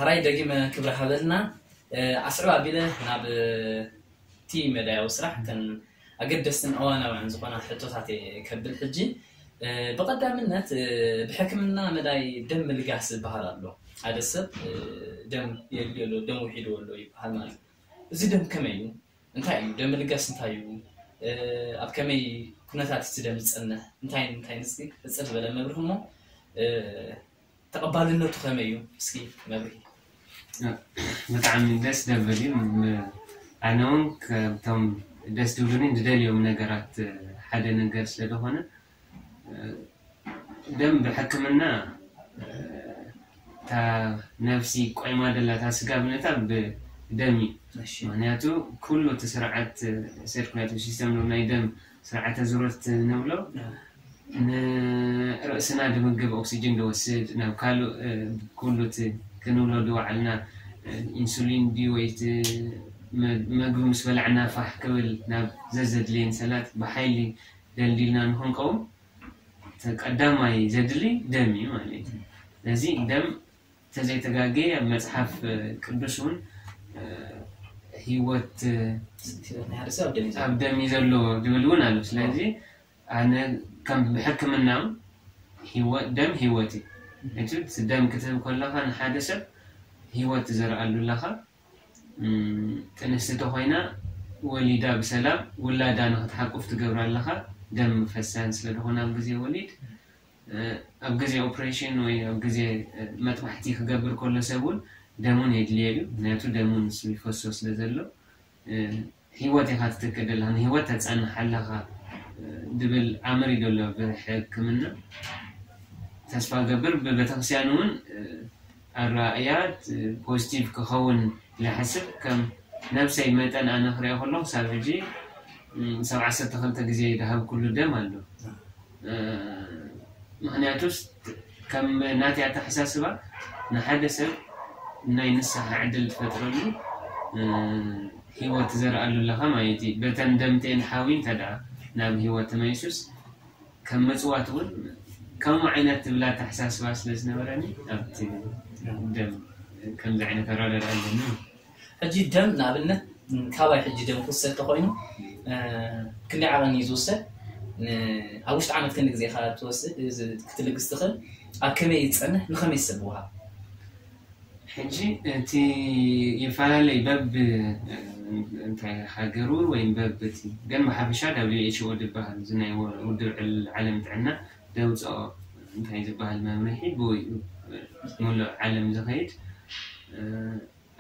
ሕራይ ደጊመ ክብሪ ሃበልና። ኣስዕብ ኣቢለ ናብ እቲ መዳያዊ ስራሕ እተን ኣገደስትን እዋናውያን ዝኾና ሕቶታት እየ ከብል። ሕጂ ብቐዳምነት ብሕክምና መዳይ ደም ምልጋስ ዝበሃል ኣሎ። ሓደ ሰብ ደም የድልዮ ኣሎ፣ ደም ውሒድዎ ኣሎ ይበሃል ማለት እዩ። እዚ ደም ከመይ እዩ? እንታይ እዩ ደም ምልጋስ? እንታይ እዩ? ኣብ ከመይ ኩነታት እቲ ደም ዝጸንሕ? እንታይ እንታይ ንስኪ ቅጽል ዝበለ መብርህ እሞ ተቐባልነቱ ከመይ እዩ? እስኪ መብርሂ። ብጣዕሚ ደስ ደብል እዩ። ኣነ እውን ካብቶም ደስ ዝብሉኒ ዝደልዮም ነገራት ሓደ ነገር ስለዝኾነ ደም ብሕክምና እታ ነፍሲ ቆይማ ደላ እታ ስጋ ብነታ ብደም እዩ። ምክንያቱ ኩሉ እቲ ስርዓት ሰርኩላቲቭ ሲስተም ናይ ደም ስርዓተ ዙረት ንብሎ ንርእስና ድምግብ ኦክሲጅን ድወስድ ናብ ካልእ ኩሉ እቲ ክንብሎ ድወዓልና ኢንሱሊን ድዩ ወይ እቲ መግቢ ምስ በላዕና ፋሕ ክብል ናብ ዘዘድልየን ሰላት ብሓይሊ ደልዲልና ንክንቀውም ቀዳማይ ዘድሊ ደም እዩ ማለት እዩ። ስለዚ ደም ተዘይተጋገየ ኣብ መፅሓፍ ቅዱስ እውን ህይወት ኣብ ደም እዩ ዘሎ ዝብል እውን ኣሎ። ስለዚ ኣነ ከም ብሕክምና ደም ህይወት እዩ። እቲ ደም ክትህብ ከለካ ንሓደ ሰብ ህይወት ትዘርኣሉ ኣለካ። ጥንስቲ ተኮይና ወሊዳ ብሰላም ውላዳ ንክትሓቁፍ ትገብራ ኣለካ። ደም ፈሳን ስለዝኮነ ኣብ ግዜ ወሊድ ኣብ ግዜ ኦፕሬሽን ወይ ኣብ ግዜ መጥባሕቲ ክገብር ከሎ ሰብ እውን ደሙን የድልየ እዩ። ምክንያቱ ደሙን ንሱ ይፈሶ ስለ ዘሎ ህይወት ኢካ ትትክእ ዘለካ፣ ንህይወት ተፀንሕ ኣለካ ድብል ኣምር እዩ ዘሎ ብሕክምና። ተስፋ ገብር ብቤተክርስትያን እውን ኣራእያ ፖዚቲቭ ክኸውን ዝሓስብ ከም ነብሰይ መጠን ኣነ ክሪኦ ከለኩ ክሳብ ሕጂ ሰብ ዓሰርተ ክልተ ግዜ ዝሃብኩሉ ደም ኣሎ። ምክንያቱስ ከም ናተይ ኣተሓሳስባ ንሓደ ሰብ ናይ ንስሓ ዕድል ትፈጥረሉ ህይወት ትዘርኣሉ ኣለካ ማለት እዩ። በተን ደምተን ሓዊ እንተ ደኣ ናብ ህይወት ተመሊሱስ ከም መፅዋት እውን ከምኡ ዓይነት ትብል ኣተሓሳስባ ስለ ዝነበረኒ ኣብቲ ደም ከምዚ ዓይነት ኣረዳድኣ ኣለኒ። ሕጂ ደም ንኣብነት ካባይ ሕጂ ደም ክውሰድ ተኮይኑ ክንደይ ዓቐን እዩ ዝውሰድ? ኣብ ውሽጢ ዓመት ክንዲ ግዜ ካ ክትልግስ ትኽእል? ኣብ ከመይ ዝፀንሕ ንኸመይ ሰብ ውሃብ? ሕጂ እቲ ይፈላለይ በብ እንታይ ሃገሩ ወይም በብ እቲ ግን ብሓፈሻ W H O ዝበሃል እዚ ናይ ውድብ ዓለም ጥዕና ደውፅኦ እንታይ ዝበሃል መምርሒ ብወይኡ ሙሉእ ዓለም ዝኸይድ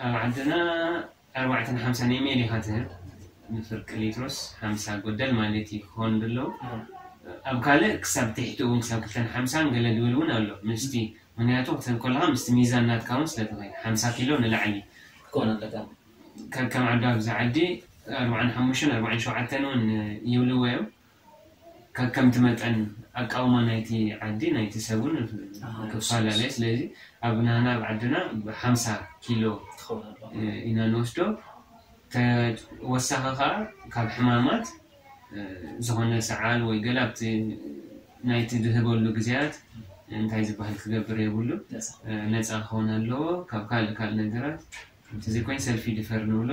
ኣብ ዓድና ኣርባዕተን ሓምሳን ኤምኤል ኢኻ ትህብ ንፍርቂ ሊትሮስ ሓምሳ ጎደል ማለት እዩ ክኸውን ድለው ኣብ ካልእ ክሳብ ትሕቲ እውን ክሳብ ክልተን ሓምሳን ገለ ድብል እውን ኣሎ ምስቲ ምክንያቱ ክትህብ ከለካ ምስቲ ሚዛን ናትካ እውን ስለትኸይድ ሓምሳ ኪሎ ንላዕሊ ክኸውን ኣለካ ከከም ዓዲ ኣብዚ ዓዲ ኣርባዓን ሓሙሽተን ኣርባዓን ሸውዓተን እውን ይብልዎ እዮም ከከምቲ መጠን ኣቃውማ ናይቲ ዓዲ ናይቲ ሰብ እውን ክፈላለ ስለዚ ኣብ ናህና ኣብ ዓድና ብሓምሳ ኪሎ ኢና ንወስዶ ተወሳኺ ከዓ ካብ ሕማማት ዝኾነ ሰዓል ወይ ገለ ኣብቲ ናይቲ ዝህበሉ ግዜያት እንታይ ዝበሃል ክገብር የብሉ ነፃ ክኸውን ኣለዎ ካብ ካልእ ካልእ ነገራት እንተዘይኮይኑ ሰልፊ ድፈር ንብሎ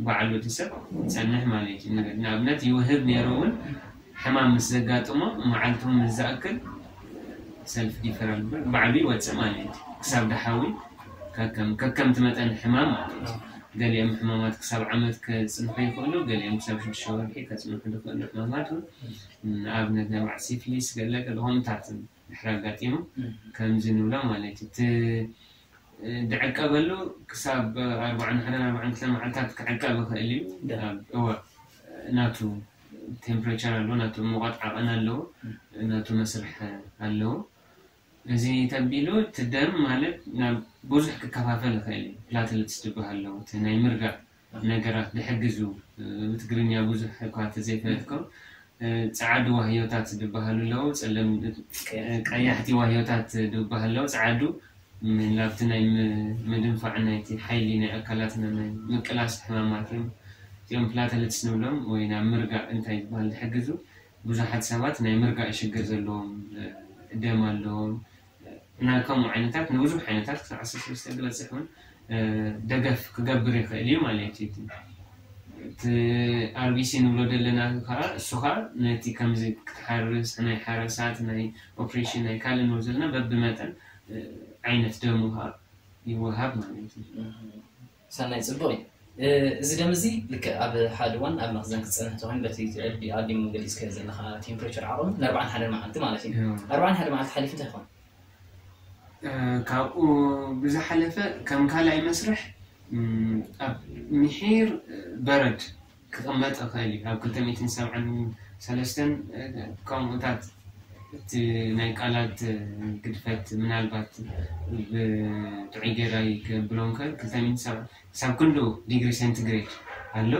ባዕሉ እቲ ሰብ ይፀንሕ ማለት እዩ ንኣብነት ይውህብ ነይሩ እውን ሕማም ምስ ዘጋጥሞ መዓልቲ እውን ምስ ዝኣክል ሰልፍ ዲፈራል ባዕሉ ይወፅእ ማለት እዩ ክሳብ ድሓዊ ከከም ከከምቲ መጠን ሕማም ማለት እዩ ገሊኦም ሕማማት ክሳብ ዓመት ከፅንሑ ይኽእሉ ገሊኦም ክሳብ ሽዱሽተ ወርሒ ከፅንሑ ዝኽእሉ ሕማማት እውን ንኣብነት ናይ በዓል ሲፍሊስ ገለ ገለ ከምታት ድሕሪ ኣጋጢሙ ከምዚ ንብሎ ማለት እዩ እቲ ድዕቀበሉ ክሳብ ኣርባዓን ሓደን ኣርባዓን ክልተን መዓልታት ክዕቀብ ይኽእል እዩ ኣብ እወ ናቱ ቴምፕሬቸር ኣለዎ ናቱ ሙቐት ዓቐን ኣለዎ ናቱ መስርሕ ኣለዎ እዚ ተቢሉ እቲ ደም ማለት ናብ ብዙሕ ክከፋፈል ይኽእል እዩ ፕላትልትስ ዝበሃል ኣለዎ እቲ ናይ ምርጋእ ነገራት ዝሕግዙ ብትግርኛ ብዙሕ እኳ ተዘይፈለጥኩም ፃዓዱ ዋህዮታት ዝበሃሉ ኣለዉ ፀለም ቀያሕቲ ዋህዮታት ዝበሃሉ ኣለዉ ፃዓዱ ናብቲ ናይ ምድንፋዕ ናይቲ ሓይሊ ናይ ኣካላትና ናይ ምቅላስ ሕማማት እዮም እዚኦም ፕላተለትስ ንብሎም ወይ ናብ ምርጋእ እንታይ ዝበሃል ዝሕግዙ ብዙሓት ሰባት ናይ ምርጋእ ሽግር ዘለዎም ደም ኣለዎም ናብ ከምኡ ዓይነታት ንብዙሕ ዓይነታት ክሳብ ዓሰርተ ሰለስተ ዝበፅሕ እውን ደገፍ ክገብር ይኽእል እዩ ማለት እዩ። እቲ ኣርቢሲ ንብሎ ዘለና ከዓ እሱ ከዓ ነቲ ከምዚ ክትሓርስ ናይ ሓረሳት ናይ ኦፕሬሽን ናይ ካልእ ንብሎ ዘለና በብመጠን ዓይነት ደሙ ከዓ ይወሃብ ማለት እዩ። ሰናይ፣ ፅቡቅ እዩ። እዚ ደም እዚ ልክዕ ኣብ ሓደ እዋን ኣብ መኽዘን ክፀንሕ ተኮይኑ በቲ ኣዲሙ ገሊፅካዮ ዘለካ ቴምፕሬቸር ዓቕሚ ንኣርባዓን ሓደን መዓልቲ ማለት እዩ። ኣርባዓን ሓደ መዓልቲ ሓሊፉ እንታይ ይኾን? ካብኡ ብዝሓለፈ ከም ካልኣይ መስርሕ ኣብ ምሒር በረድ ክቕመጥ ይኽእል እዩ። ኣብ ክልተ ሚእትን ሰብዓን ሰለስተን ከምኡታት እቲ ናይ ቃላት ግድፈት ምናልባት ብጥዑይ ጌራ ይገብሮም ከ ክልተ ሚእትን ሰብዓን ክሳብ ክንዱ ዲግሪ ሴንቲግሬድ ኣሎ።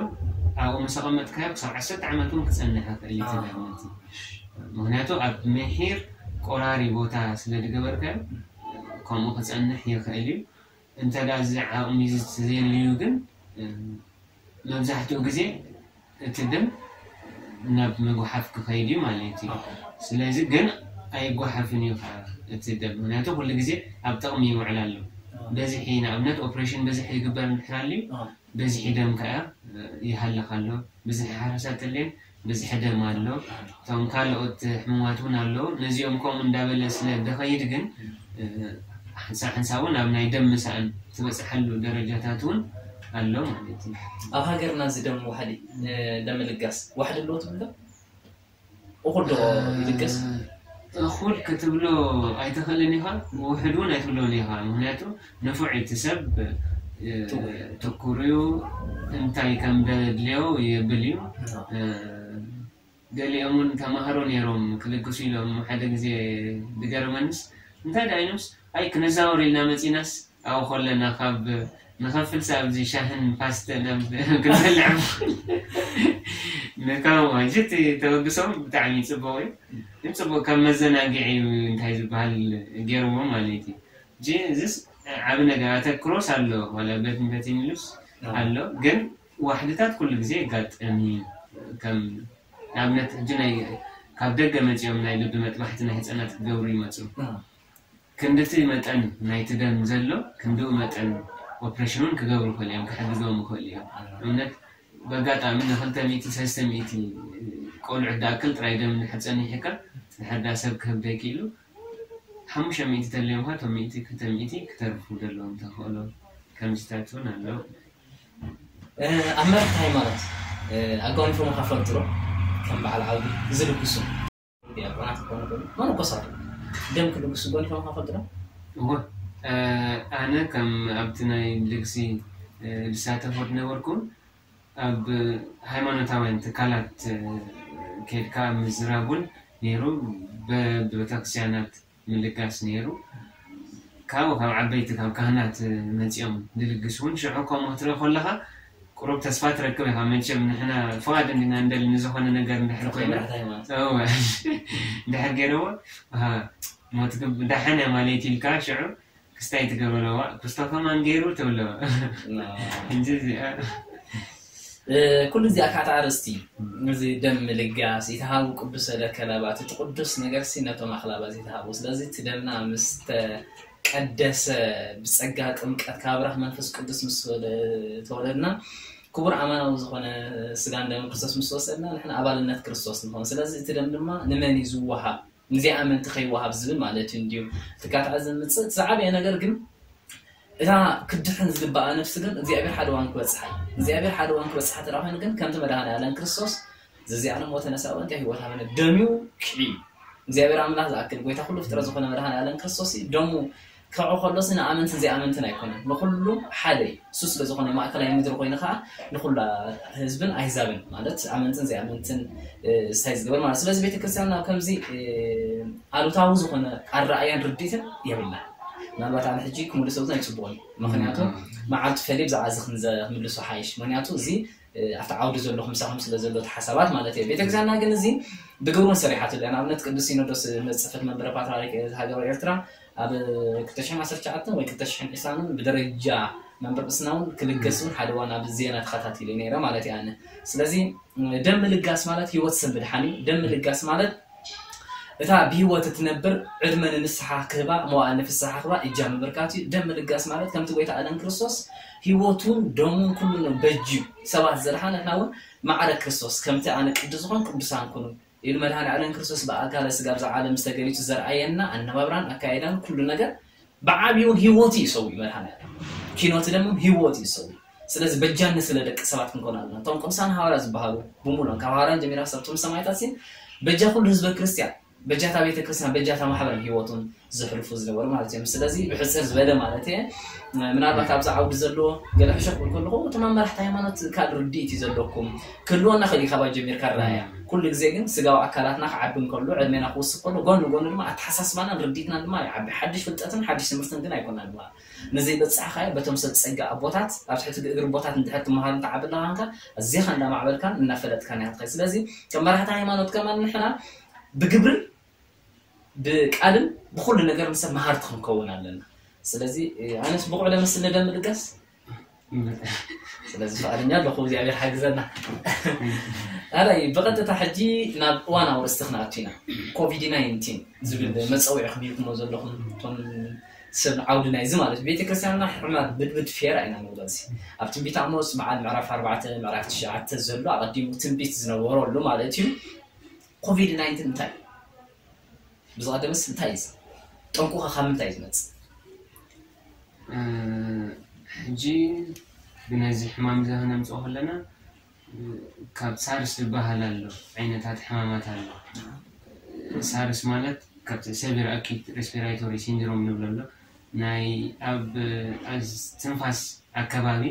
ኣብኡ ምስ ኣቐመጥካዮ ክሳብ ዓሰርተ ዓመት እውን ክጸንሕ ይኽእል እዩ። ምክንያቱ ኣብ ምሒር ቆራሪ ቦታ ስለ ዝገበርካዮ ከምኡ ክጸንሕ ይኽእል እዩ። እንተ ደኣ እዚ ዓቕሚ እዚ ተዘየልዩ ግን መብዛሕትኡ ግዜ እቲ ደም ናብ ምጉሓፍ ክኸይድ እዩ ማለት እዩ። ስለዚ ግን ኣይጓሓፍን እዩ ከዓ እቲ ደም፣ ምክንያቱ ኩሉ ግዜ ኣብ ጥቕሚ ይውዕል ኣሎ። በዝሒ ንኣብነት ኦፕሬሽን በዝሒ ይግበር እንድሕር ኣልዩ በዝሒ ደም ከዓ ይሃልኽ ኣሎ። ብዝሒ ሓረሳት ተልየን ብዝሒ ደም ኣሎ። እቶም ካልኦት ሕሙማት እውን ኣለዉ። ነዚኦም ከምኡ እንዳበለ ስለ ደኸይድ ግን ሓንሳብ ሓንሳብ እውን ኣብ ናይ ደም ምሳእን ትበፅሓሉ ደረጃታት እውን ኣሎ ማለት እዩ። ኣብ ሃገርና እዚ ደም ዋሕዲ ደም ልጋስ ዋሕዲ ኣለዎ ትብል ዶ? እኹል ዶ ይልገስ? እኹል ክትብሎ ኣይትኽእልን ኢኻ፣ ውሕድ እውን ኣይትብሎን ኢኻ። ምክንያቱ ንፉዕ እቲ ሰብ ትኩር እዩ፣ እንታይ ከም ደድልዮ የብል እዩ። ገሊኦም እውን ተማሃሮ ነይሮም ክልግሱ ኢሎም ሓደ ግዜ ዝገርመንስ እንታይ ደኣ ኢሎምስ ኣይ ክነዛወር ኢልና መፂናስ ኣብኡ ከለና ካብ ንኸፍልስ ኣብዚ ሻህን ፓስተን ኣብ ክንበልዕ ንካው ሕጂ እቲ ተበግሶም ብጣዕሚ ፅቡቅ እዩ። ግን ፅቡቅ ከም መዘናግዒ እንታይ ዝበሃል ገይርዎ ማለት እዩ። ሕጂ እዚስ ዓብ ነገር ኣተክሮስ ኣሎ ዋላ በትን በትን ኢሉስ ኣሎ ግን ዋሕድታት ኩሉ ግዜ የጋጥም እዩ። ከም ንኣብነት ሕጂ ናይ ካብ ደገ መፂኦም ናይ ልቢ መጥባሕቲ ናይ ህፃናት ክገብሩ ይመፁ። ክንድቲ መጠን ናይቲ ደም ዘሎ ክንድኡ መጠን ኦፕሬሽን እውን ክገብሩ ይኽእሉ እዮም፣ ክሕግዞም ይኽእሉ እዮም። ንኣብነት በጋጣሚ ንክልተ ሚእቲ ሰለስተ ሚእቲ ቆልዑት ዝኣክል ጥራይ ደም እንድሕር ፀኒሕካ ድሕር ዳ ሰብ ክህብ ደይክኢሉ ሓሙሽተ ሚእቲ ተልዮም ካ እቶም ሚእቲ ክልተ ሚእቲ ክተርፉ ዘለዎም ተኽእሎ ከምዚታት እውን ኣለዉ። ኣብ መራሕቲ ሃይማኖት ኣጓኒፎም ካ ፈልጡ ዶ? ከም በዓል ዓውዲ ዝልግሱ ዲያቆናት ክኾኑ ይኽእሉ፣ መነኮሳት ደም ክልግሱ ኣጓኒፎም ካ ፈልጡ ዶ? እወ፣ ኣነ ከም ኣብቲ ናይ ልግሲ ዝሳተፎ ዝነበርኩ ኣብ ሃይማኖታውያን ትካላት ኬድካ ምዝራብ እውን ነይሩ፣ በብቤተክርስትያናት ምልጋስ ነይሩ። ካብኡ ካብ ዓበይቲ ካብ ካህናት መፂኦም ዝልግስ እውን ሽዑ ከምኡ ክትርኢ ከለካ ቁሩብ ተስፋ ትረክብ ኢኻ። መቸም ንሕና ፍቓድ እንዲና እንደሊ ንዝኾነ ነገር እንድሕር ኮይና ድሕር ገይረዎ ሞት ዳሓን እያ ማለት ኢልካ ሽዑ ክስታይ ትገብረዋ ክስቶ ከማን ገይሩ ትብለዋ እንጂ እዚኣ ኩሉ እዚኣ ካታ ኣርእስቲ እዚ ደም ምልጋስ ይተሃቡ ቅዱስ ለከላባት እቲ ቅዱስ ነገር ሲ ነቶም ኣኽላባት ይተሃቡ። ስለዚ እቲ ደምና ምስ ተቀደሰ ብጸጋ ጥምቀት ካብ ብራኽ መንፈስ ቅዱስ ምስ ተወለድና ክቡር ኣማናዊ ዝኾነ ስጋን ደም ክርስቶስ ምስ ወሰድና ንሕና ኣባልነት ክርስቶስ ንኾን። ስለዚ እቲ ደም ድማ ንመን እዩ ዝወሃብ ንዚኣመንቲ ከይወሃብ ዝብል ማለት እዩ እንድዩ። ትካትዓ ዝምፅእ እቲ ዝዓበየ ነገር ግን እታ ክድሕን ዝግባኣ ነፍሲ ግን እግዚኣብሔር ሓደ ዋን ክበፅሓ እዩ። እግዚኣብሔር ሓደ ዋን ክበፅሓ ተራ ኮይኑ ግን ከምቲ መድሃን ያለን ክርስቶስ ዘዚኣነ ሞተ ነሳወ እንታይ ህይወት ሃበነ ደሚዩ ክዒ እግዚኣብሔር ኣምላኽ ዝኣክል ጎይታ ኩሉ ፍጥረት ዝኾነ መድሃን ያለን ክርስቶስ እዩ። ደሙ ክዑ ከሎሲ ንኣመንትን ዘይኣመንትን ኣይኮነን ንኩሉ ሓደ እዩ። እሱ ስለ ዝኾነ ማእከላይ ምድሪ ኮይኑ ከዓ ንኩላ ህዝብን ኣይዛብን ማለት ኣመንትን ዘይኣመንትን ስታይ ዝገበር ማለት ስለዚ ቤተክርስትያን ናብ ከምዚ ኣሉታዊ ዝኾነ ኣረኣያን ርድኢትን የብልና። ምናልባት ኣነ ሕጂ ክምልሶ እውን ኣይፅቡቕን እዩ። ምክንያቱ መዓልቲ ፈሊ ብዛዕባ እዚ ክንዘ- ክምልሶ ሓይሽ ምክንያቱ እዚ ኣብቲ ዓውዲ ዘሎ ክምሳኹም ስለ ዘሎ እቲ ሓሳባት ማለት እየ። ቤተክርስትያንና ግን እዚ ብግብሩን ሰሪሓትሉ እያ። ንኣብነት ቅዱስ ሲኖዶስ መፅፈት መንበረ ፓትርያርክ ሃገረ ኤርትራ ኣብ ክልተ ሽሕን ዓሰርተ ትሽዓተን ወይ ክልተ ሽሕን ዕስራን ብደረጃ መንበረ ቅስና እውን ክልገስ እውን ሓደ ዋና ብዜና ተኸታቲለ ነይረ ማለት እየ ኣነ። ስለዚ ደም ምልጋስ ማለት ህይወት ሰብ ምድሓን እዩ። ደም ምልጋስ ማለት እታ ብህይወት እትነብር ዕድመ ንንስሓ ክህባ፣ መዋእል ንፍስሓ ክህባ እጃም ምብርካት እዩ። ደም ምልጋስ ማለት ከምቲ ጎይታ ኣለን ክርስቶስ ህይወቱን ደሙን ኩሉ በጅዩ ሰባት ዘድሓነ፣ ንሕና እውን ማዕረ ክርስቶስ ከምቲ ኣነ ቅዱስ ዝኾን ቅዱሳን ኩኑ ኢሉ መድሃኒ ኣለን ክርስቶስ ብኣካለ ስጋ ኣብዛ ዓለም ዝተገሊጹ ዘርኣየና ኣነባብራን ኣካይዳን ኩሉ ነገር ብዓብዩን ህይወቱ እዩ ሰው እዩ መድሃኒ ኣለን ኪኖቲ ደምም ህይወቱ እዩ ሰው እዩ። ስለዚ በጃኒ ስለ ደቂ ሰባት ክንኮን ኣለና። እቶም ቅዱሳን ሃዋርያ ዝበሃሉ ብሙሉኦም ካብ ሃዋርያን ጀሚራ ክሳብ እቶም ሰማይታት ሲ በጃ ኩሉ ህዝበ ክርስቲያን በጃታ ቤተ ክርስቲያን በጃታ ማሕበርን ህይወቱን ዘሕልፉ ዝነበሩ ማለት እዮም። ስለዚ ብሕፅር ዝበለ ማለት እየ። ምናልባት ኣብዚ ዓውዲ ዘለዎ ገለ ሕሸ ክብል ከለኹ እቶም ኣብ መራሕቲ ሃይማኖት ካልእ ርድኢት እዩ ዘለኩም ክህልወና ክእል እዩ ካባ ጀሚርካ ራእያ ኩሉ ግዜ ግን ስጋዊ ኣካላትና ክዓቢ እንከሎ ዕድሜና ክወስኽ ከሎ ጎን ጎኑ ድማ ኣተሓሳስባናን ርድኢትናን ድማ ይዓቢ። ሓድሽ ፍልጠትን ሓድሽ ትምህርትን ግን ኣይኮናን ድማ ንዘይበጻሕካዮ በቶም ሰብ ጸጋ ኣቦታት ኣብ ትሕቲ እግሪ ኣቦታት እንድሕር ትመሃር እንተዓቢ ኣለኻንካ ኣዚኻ እንዳማዕበልካን እናፈለጥካን ኢኻ ትኸይድ። ስለዚ ከም መራሕቲ ሃይማኖት ከማን ንሕና ብግብርን ብቃልን ብኩሉ ነገር ንሰብ መሃርቲ ክንከውን ኣለና። ስለዚ ኣነስ ብቑዕ ደመስል ንደም ልጋስ ስለዚ ፍቓደኛ ኣለኹ እግዚኣብሔር ሓግዘና። ኣራይ ብቐጥታ ሕጂ ናብ እዋን ኣውርስቲ ክንኣቱ ኢና። ኮቪድ ናይንቲን ዝብል መፀውዒ ክብልኩሞ ዘለኹም እቶም ሰብ ዓውዲ ናይዚ ማለት ቤተክርስትያንና ሕማት ብድብድ ፌራ ኢና ንብሎ። እዚ ኣብ ትንቢት ኣሞስ በዓል ምዕራፍ ኣርባዕተ ምዕራፍ ትሽዓተ ዘሎ ኣቐዲሙ ትንቢት ዝነበረሉ ማለት እዩ። ኮቪድ ናይንቲን እንታይ እዩ? ብዝቐደምስ እንታይ እዩ? ጠንቁኸ ካብ ምንታይ እዩ ዝመፅእ? ሕጂ ብነዚ ሕማም እዚ ክነምፅኦ ከለና ካብ ሳርስ ዝበሃል ኣሎ ዓይነታት ሕማማት ኣሎ። ሳርስ ማለት ካብ severe acute respiratory syndrome ንብሎ ኣሎ ናይ ኣብ ትንፋስ ኣከባቢ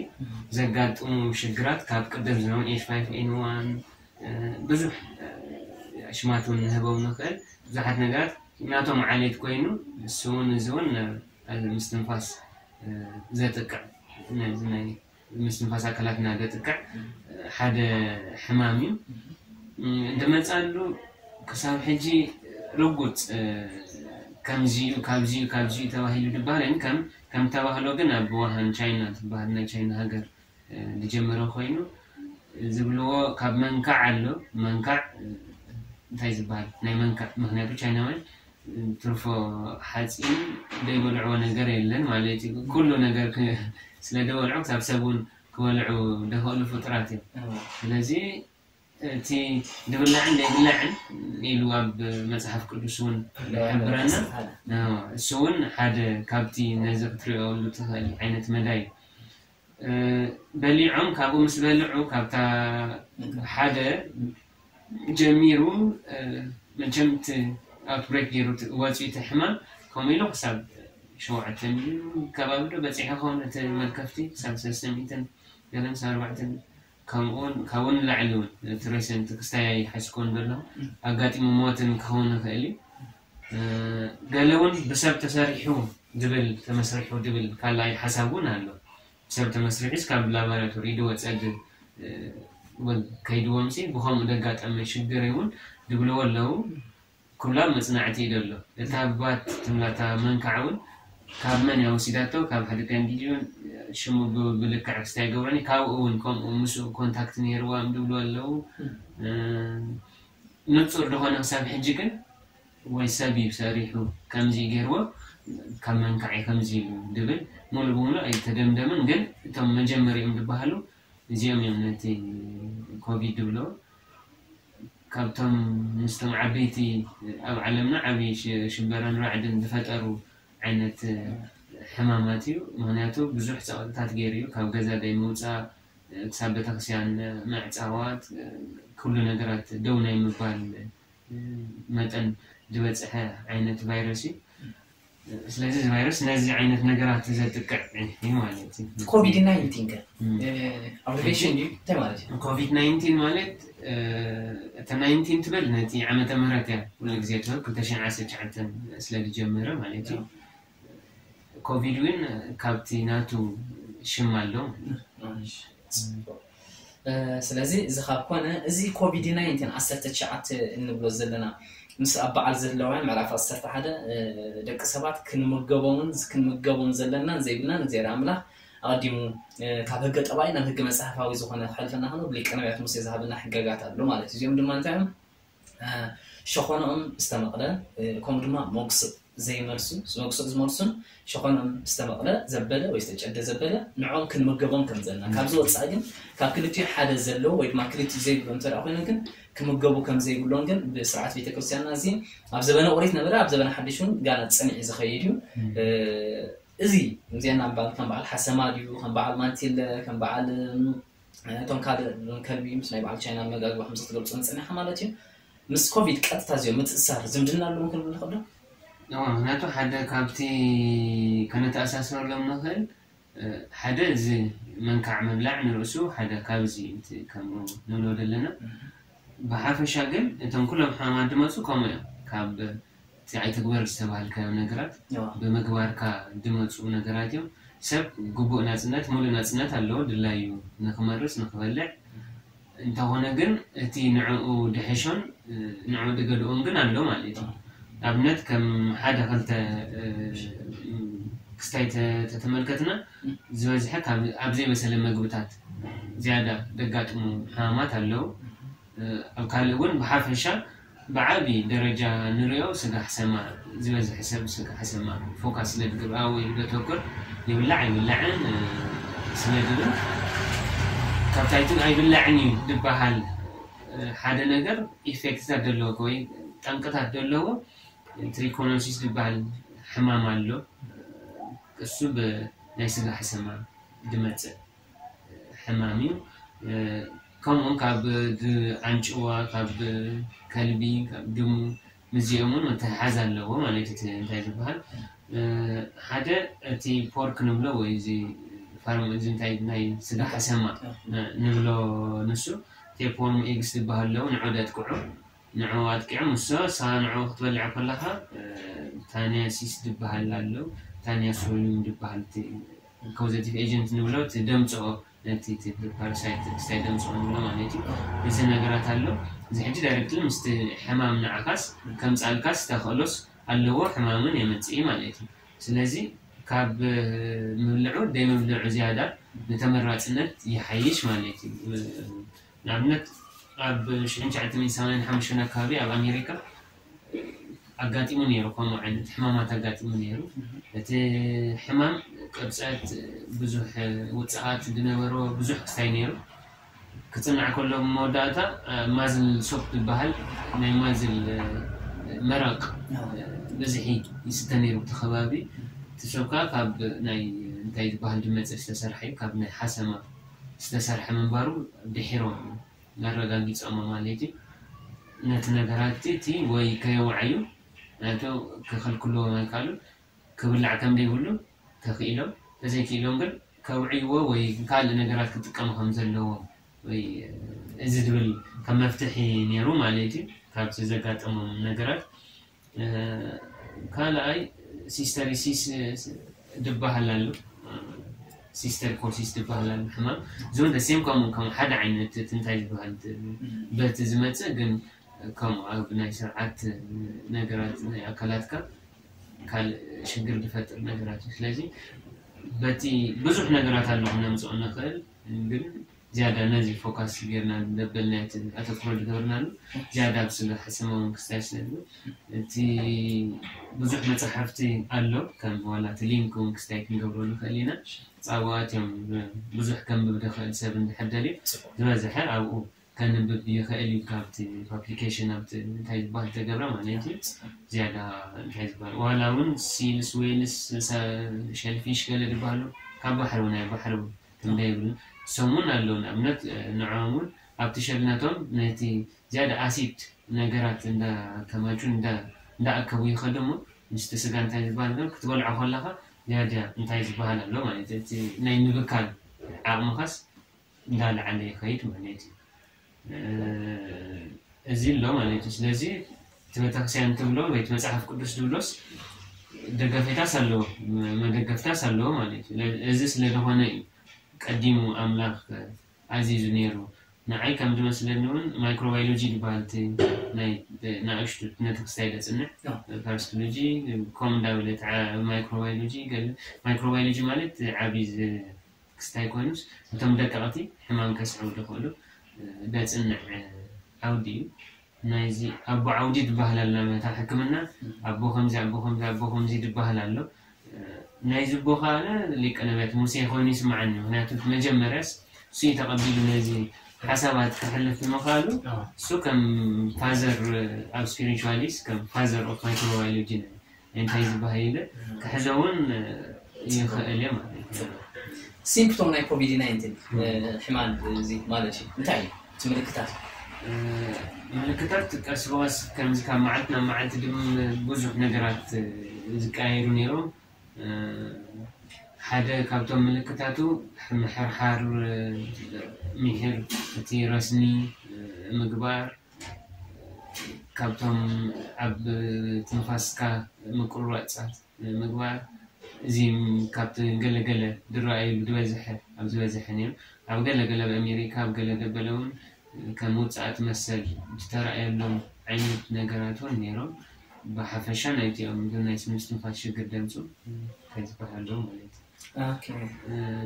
ዘጋጥሙ ሽግራት ካብ ቅድም ዝነበሩ ኤች ፋይቭ ኤን ዋን ብዙሕ ሽማት እውን ንህበው ንኽእል ብዙሓት ነገራት ናቶም ዓሌት ኮይኑ እሱ እውን እዚ እውን ምስትንፋስ ዘጥቅዕ ነዚ ናይ ምስትንፋስ ኣካላትና ዘጥቅዕ ሓደ ሕማም እዩ። እንድመፃሉ ክሳብ ሕጂ ርጉፅ ከምዚዩ ካብዚዩ ካብዚዩ ተባሂሉ ዝበሃል ከም ከም ተባህሎ ግን ኣብ ውሃን ቻይና ዝበሃል ናይ ቻይና ሃገር ዝጀመረ ኮይኑ ዝብልዎ ካብ መንካዕ ኣሎ መንካዕ እንታይ ዝበሃል ናይ መንካዕ ምክንያቱ ቻይናውያን ትርፎ ሓፂን ዘይበልዕዎ ነገር የለን ማለት እዩ። ኩሉ ነገር ስለ ደበልዑ ክሳብ ሰብ እውን ክበልዑ ደኸእሉ ፍጡራት እዮም። ስለዚ እቲ ድብላዕን ዘይብላዕን ኢሉ ኣብ መፅሓፍ ቅዱስ እውን ይሕብረና። እሱ እውን ሓደ ካብቲ ነዚ ክትሪኦሉ ትኽእል ዓይነት መዳይ እዩ። በሊዖም ካብኡ ምስ በልዑ ካብታ ሓደ ጀሚሩ መቸም እቲ ኣውትብሬክ ገይሩ ወፂኡ እቲ ሕማም ከምኡ ኢሉ ክሳብ ሸውዓተ ሚሊዮን ከባቢ ዶ በፂሑ ከውን እቲ መልከፍቲ ክሳብ ሰለስተ ሚእትን ገለን ክሳብ ኣርባዕተ ከምኡውን ካብኡ ንላዕሊ እውን እቲ ሬሰንት ክስታይ ኣይሓዝኮን ዘሎ ኣጋጢሙ ሞትን ክኸውን ይኽእል እዩ። ገለ እውን ብሰብ ተሰሪሑ ድብል ተመስሪሑ ድብል ካልኣይ ሓሳብ እውን ኣሎ። ሰብ ተመስሪሑስ ካብ ላቦራቶሪ ድወፀ ድ እውን ከይድዎም ሲ ብኸምኡ ደጋጠመ ሽግር እውን ድብልዎ ኣለዉ። ኩላ መፅናዕቲ እዩ ደሎ። እታ ባት ትምላታ መንካዕ እውን ካብ መን እያ ወሲዳቶ? ካብ ሓደ ካንዲድ እውን ሽሙ ብ- ብልክዕ ክስታይ ገብረኒ ካብኡ እውን ከምኡ ምስኡ ኮንታክት ነይርዋ ድብሉ ኣለዉ። ንፁር ዝኾነ ክሳብ ሕጂ ግን ወይ ሰብ እዩ ሰሪሑ ከምዚ ገይርዎ ካብ መንካዕ እዩ ከምዚ ኢሉ ድብል ሙሉ ብሙሉ ኣይተደምደምን። ግን እቶም መጀመሪኦም ዝበሃሉ እዚኦም እዮም ነቲ ኮቪድ ድብሎ ካብቶም ምስቶም ዓበይቲ ኣብ ዓለምና ዓብዪ ሽበራን ራዕድን ዝፈጠሩ ዓይነት ሕማማት እዩ። ምክንያቱ ብዙሕ ፀቕጥታት ገይሩ እዩ። ካብ ገዛ ደይ ምውፃእ ክሳብ ቤተክርስትያን ምዕፃዋት ኩሉ ነገራት ደው ናይ ምባል መጠን ዝበፅሐ ዓይነት ቫይረስ እዩ። ስለዚ እዚ ቫይረስ ነዚ ዓይነት ነገራት ዘጥቅዕ እዩ ማለት እዩ። ኮቪድ ናይንቲን ከ ኣብሪቬሽን ድዩ እንታይ ማለት እዩ? ኮቪድ ናይንቲን ማለት እተ ናይንቲን ትብል ነቲ ዓመተ ምህረት እያ ኩሉ ግዜ ትብል ክልተ ሽሕን ዓሰርተ ትሽዓተን ስለ ዝጀመረ ማለት እዩ። ኮቪድ እውን ካብቲ ናቱ ሽም ኣሎ። ስለዚ እዚ ካብ ኮነ እዚ ኮቪድ ናይንቲን ዓሰርተ ትሽዓተ እንብሎ ዘለና ምስ ኣብ በዓል ዘለውያን ምዕራፍ ዓሰርተ ሓደ ደቂ ሰባት ክንምገቦምን ክንምገቦም ዘለናን ዘይብልናን እግዚኣብሔር ኣምላኽ ኣቐዲሙ ካብ ህገ ጠባይ ናብ ህገ መጽሓፋዊ ዝኾነ ክሕልፈና ከሎ ብሊቀ ነቢያት ሙሴ ዝሃበና ሕገጋት ኣሎ ማለት እዩ። እዚኦም ድማ እንታይ እዮም? ሸኾናኦም ዝተመቕለ ከምኡ ድማ መጉስእ ዘይመልሱ መጉስእ ዝመልሱን ሸኾናኦም ዝተመቕለ ዘበለ ወይ ዝተጨደ ዘበለ ንዖም ክንምገቦም ከም ዘለና ካብዚ ወፃኢ ግን ካብ ክልቲኡ ሓደ ዘለዎ ወይ ድማ ክልቲኡ ዘይብሉ እንተ ኮይኑ ግን ክምገቡ ከም ዘይብሎም ግን ብስርዓት ቤተክርስትያንና እዚ ኣብ ዘበነ ኦሪት ነበረ ኣብ ዘበነ ሓድሽ እውን ጋና ፀኒዒ ዝኸይድ እዩ እዚ እዚና በዓል ከም በዓል ሓሰማ ድዩ ከም በዓል ማንቲለ ከም በዓል እቶም ካልእ ከልቢ ምስ ናይ በዓል ቻይና መጋግባ ከምዚ ክትገልፆ ንፅንሐ ማለት እዩ ምስ ኮቪድ ቀጥታ እዚኦም ምትእሳር ዝምድና ኣለዎም ክንብል ንኽእል ዶ ምክንያቱ ሓደ ካብቲ ከነተኣሳስረሎም ንኽእል ሓደ እዚ መንካዕ ምብላዕ ንርእሱ ሓደ ካብዚ ከምኡ ንብሎ ዘለና ብሓፈሻ ግን እቶም ኩሎም ሕማማት ድመፁ ከምኡ እዮም ካብ እቲ ኣይትግበር ዝተባሃልካዮ ነገራት ብምግባርካ ድመፁ ነገራት እዮም ሰብ ግቡእ ናፅነት ሙሉእ ናፅነት ኣለዎ ድላዩ ንክመርፅ ንክበልዕ እንተኾነ ግን እቲ ንዕኡ ድሕሾን ንዕኡ ድገድኦን ግን ኣሎ ማለት እዩ ኣብነት ከም ሓደ ክልተ ክስታይ ተተመልከትና ዝበዝሐ ኣብ ዘይበሰለ መግብታት ዝያዳ ደጋጥሙ ሕማማት ኣለዉ ኣብ ካልእ እውን ብሓፈሻ ብዓቢ ደረጃ ንሪኦ ስጋ ሕሰማ ዝበዝሐ ሰብ ስጋ ሕሰማ ፎካስ ስለ ድግብኣ ወይ ደተኩር ይብላዕ ኣይብላዕን ስለ ድብል ካብታይትን ኣይብላዕን እዩ ዝበሃል ሓደ ነገር ኢፌክትታት ዘለዎ ወይ ጠንቅታት ዘለዎ ትሪኮኖሲስ ዝበሃል ሕማም ኣሎ እሱ ብናይ ስጋ ሕሰማ ድመፅእ ሕማም እዩ ከምኡ ካብ ኣንጭዋ ካብ ከልቢ ካብ ድሙ ምዚኦም እውን ምትሕሓዝ ኣለዎ ማለት እቲ እንታይ ዝበሃል ሓደ እቲ ፖርክ ንብሎ ወይ እዚ ፋርም እዚ እንታይ ናይ ስጋ ሓሰማ ንብሎ ንሱ ቴፖርም ኤግስ ዝበሃል ኣለዉ ንዑ ደጥቅዑ ንዑ ኣጥቂዖም እሶ ሳ ንዑ ክትበልዕ ከለኻ ታንያሲስ ዝበሃል ኣለዉ ታንያሶሊም ዝበሃል ኮዘቲቭ ኤጀንት ንብሎ እቲ ደምፅኦ ነቲ ፓራሳይት ክስታይ ደምፅኦ ንብሎ ማለት እዩ እዚ ነገራት ኣሎ እዚ ሕጂ ዳይሬክትሊ ምስቲ ሕማም ንዓኻስ ከምፃልካስ ተኽእሎስ ኣለዎ ሕማምን የመፅእ ማለት እዩ ስለዚ ካብ ምብልዑ ደይ ምብልዑ ዝያዳ ንተመራፅነት ይሓይሽ ማለት እዩ ንኣብነት ኣብ ሽሕን ትሽዓተ ሚእትን ሰማንያን ሓሙሽተን ኣካባቢ ኣብ ኣሜሪካ ኣጋጢሙ ነይሩ ከምኡ ዓይነት ሕማማት ኣጋጢሙ ነይሩ እቲ ሕማም ቅብፀት ብዙሕ ውፅኣት ዝነበሮ ብዙሕ ክስታይ ነይሩ ክፅናዕ ከሎ መወዳእታ ማዝል ሶፕ ዝበሃል ናይ ማዝል መረቕ ብዝሒ ይስተ ነይሩ እቲ ከባቢ እቲ ሶፕ ከዓ ካብ ናይ እንታይ ዝበሃል ድመፀ ዝተሰርሐ እዩ ካብ ናይ ሓሰማ ዝተሰርሐ ምንባሩ ድሒሮም እዩ ኣረጋጊፆሞ ማለት እዩ ነቲ ነገራት እቲ ወይ ከየውዓዩ ናቶ ክኽልክልዎም ኣይከኣሉ ክብላዕ ከም ዘይብሉ ተኽኢሎም ተዘይክኢሎም ግን ከውዕይዎ ወይ ካልእ ነገራት ክጥቀሙ ከም ዘለዎም ወይ እዚ ዝብል ከም መፍትሒ ነይሩ ማለት እዩ ካብቲ ዘጋጠሞም ነገራት ካልኣይ ሲስተሪሲስ ዝበሃል ኣሎ ሲስተር ኮሲስ ዝበሃል ኣሎ ሕማም እዚውን ደሴም ከምኡ ከም ሓደ ዓይነት እቲ እንታይ ዝበሃል በቲ ዝመፅእ ግን ከምኡ ኣብ ናይ ስርዓት ነገራት ናይ ኣካላትካ ካልእ ሽግር ዝፈጥር ነገራት እዩ ስለዚ በቲ ብዙሕ ነገራት ኣሎ ክነምፅኦ ንኽእል ግን ዝያዳ ነዚ ፎካስ ጌርና ዘበልና እቲ ኣተኩሮ ዝገበርናሉ ዝያዳ ኣብ ስጋ ሕሰማውን ክስታይ ስለ እቲ ብዙሕ መፅሓፍቲ ኣሎ ከም ዋላ እቲ ሊንክ እውን ክስታይ ክንገብሮ ንኽእል ኢና ፃዋት እዮም ብዙሕ ከንብብ ዝኽእል ሰብ እንድሕር ደልዩ ዝበዝሐ ኣብኡ ከንብብ ይኽእል እዩ ካብቲ ፓፕሊኬሽን ኣብቲ እንታይ ዝበሃል ተገብረ ማለት እዩ ዝያዳ እንታይ ዝበሃል ዋላ እውን ሲልስ ዌልስ ሸልፊሽ ገለ ዝበሃሉ ካብ ባሕሪ እውን ኣይ ባሕሪ ትምዳ ይብሉ ሰሙን ኣለዉ ንኣብነት ንዕኦም እውን ኣብቲ ሸልነቶም ነቲ ዝያዳ ኣሲድ ነገራት እንዳከማቹ እንዳኣከቡ ይኸዱ እሞ ምስቲ ስጋ እንታይ ዝበሃል ግን ክትበልዖ ከለኻ ዝያዳ እንታይ ዝበሃል ኣሎ ማለት እቲ ናይ ምብካል ዓቕምኻስ እንዳለዓለ ይኸይድ ማለት እዩ እዚ ኣሎ ማለት እዩ ስለዚ እቲ ቤተክርስቲያን ትብሎ ወይ መፅሓፍ ቅዱስ ዝብሎስ ደገፌታስ ኣለዎ መደገፍታስ ኣለዎ ማለት እዩ እዚ ስለዝኾነ እዩ ቀዲሙ ኣምላኽ ኣዚዙ ነይሩ ንዓይ ከም ዝመስለኒ እውን ማይክሮባዮሎጂ ዝበሃል ናይ ንእሽቱ ነቲ ክስታይ ዘፅንዕ ፓራሲቶሎጂ ከም እንዳበለ ማይክሮባዮሎጂ ማይክሮባዮሎጂ ማለት ዓብዪ ክስታይ ኮይኑስ እቶም ደቀቕቲ ሕማም ከስዕቡ ዝኽእሉ ዘፅንዕ ዓውዲ እዩ ናይዚ ኣቦ ዓውዲ ዝበሃል ኣሎ መታ ሕክምና ኣቦ ከምዚ ኣቦ ከምዚ ኣቦ ከምዚ ዝበሃል ኣሎ። ናይዚ ኣቦ ከዓ ሊቀ ነቢያት ሙሴ ኮይኑ ይስምዓኒ። ምክንያቱ መጀመርያስ እሱ እዩ ተቐቢሉ ነዚ ሓሳባት ክሕልፍ ምኽኣሉ። እሱ ከም ፋዘር ኣብ ስፒሪቹዋሊስ ከም ፋዘር ኦፍ ማይክሮባዮሎጂ እንታይ ዝበሃል ኢለ ክሕዞ እውን ይኽእል እየ ማለት እዩ። ሲምፕቶም ናይ ኮቪድ ናይንቲን ሕማም እዚ ማለት እዩ እንታይ እዩ እቲ ምልክታት? ምልክታት ቀስ ብቐስ ከምዚ ካብ መዓልቲ ናብ መዓልቲ ድም ብዙሕ ነገራት ዝቀያየሩ ነይሮም። ሓደ ካብቶም ምልክታቱ ምሕርሓር፣ ምሒር፣ እቲ ረስኒ ምግባር፣ ካብቶም ኣብ ትንፋስካ ምቁርራፃት ምግባር፣ እዚ ካብቲ ገለገለ ዝረኣዩ ዝበዝሐ ኣብ ዝበዝሐ ነይሩ። ኣብ ገለገለ ኣብ ኣሜሪካ ኣብ ገለ ገበለ እውን ከም ውፅኣት መሰል ዝተረኣየሎም ዓይነት ነገራት እውን ነይሮም። ብሓፈሻ ናይቲኦም ግን ናይ ምስትንፋስ ሽግር ደምፁ እንታይ ዝበሃል ኣለዉ ማለት እዩ። ኦኬ።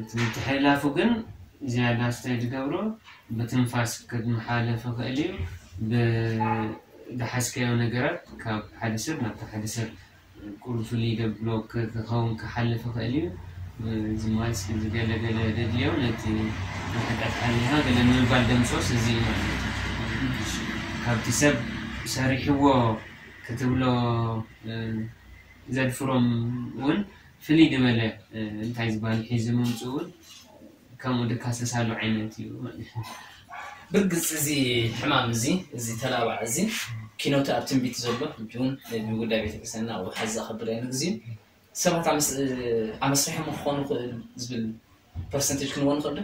እቲ ምትሕልላፉ ግን ዝያዳ ስታይ ዝገብሮ ብትንፋስ ክትመሓለፍ ይኽእል እዩ። ብዝሓዝካዮ ነገራት ካብ ሓደ ሰብ ናብቲ ሓደ ሰብ ቁሩብ ፍልይ ዘብሎ ክኸውን ክሓልፍ ይኽእል እዩ። እዚ ማለት ዝገለገለ ደድልዮ ነቲ ንሕቀት ሓሊኻ ገለ ንምባል ደምፆስ እዚ እዩ ማለት እዩ። ካብቲ ሰብ ሰሪሕዎ ክትብሎ ዘድፍሮም እውን ፍልይ ዝበለ እንታይ ዝበሃል ሒዙ ምምፅኡ እውን ከምኡ ድካሰሳሉ ዓይነት እዩ ማለት እዩ። ብርግፅ እዚ ሕማም እዚ እዚ ተላባዕ እዚ ኪኖቲ ኣብ ትንቢት ዘሎ ሕጂ እውን ብጉዳይ ቤተክርስትያንና ኣብኡ ሓዚ ኣኸብር እየ ንግዚኡ ሰባት ኣመስርሖም ክኾኑ ክእል ዝብል ፐርሰንቴጅ ክንዎ ንኽእል ዶ?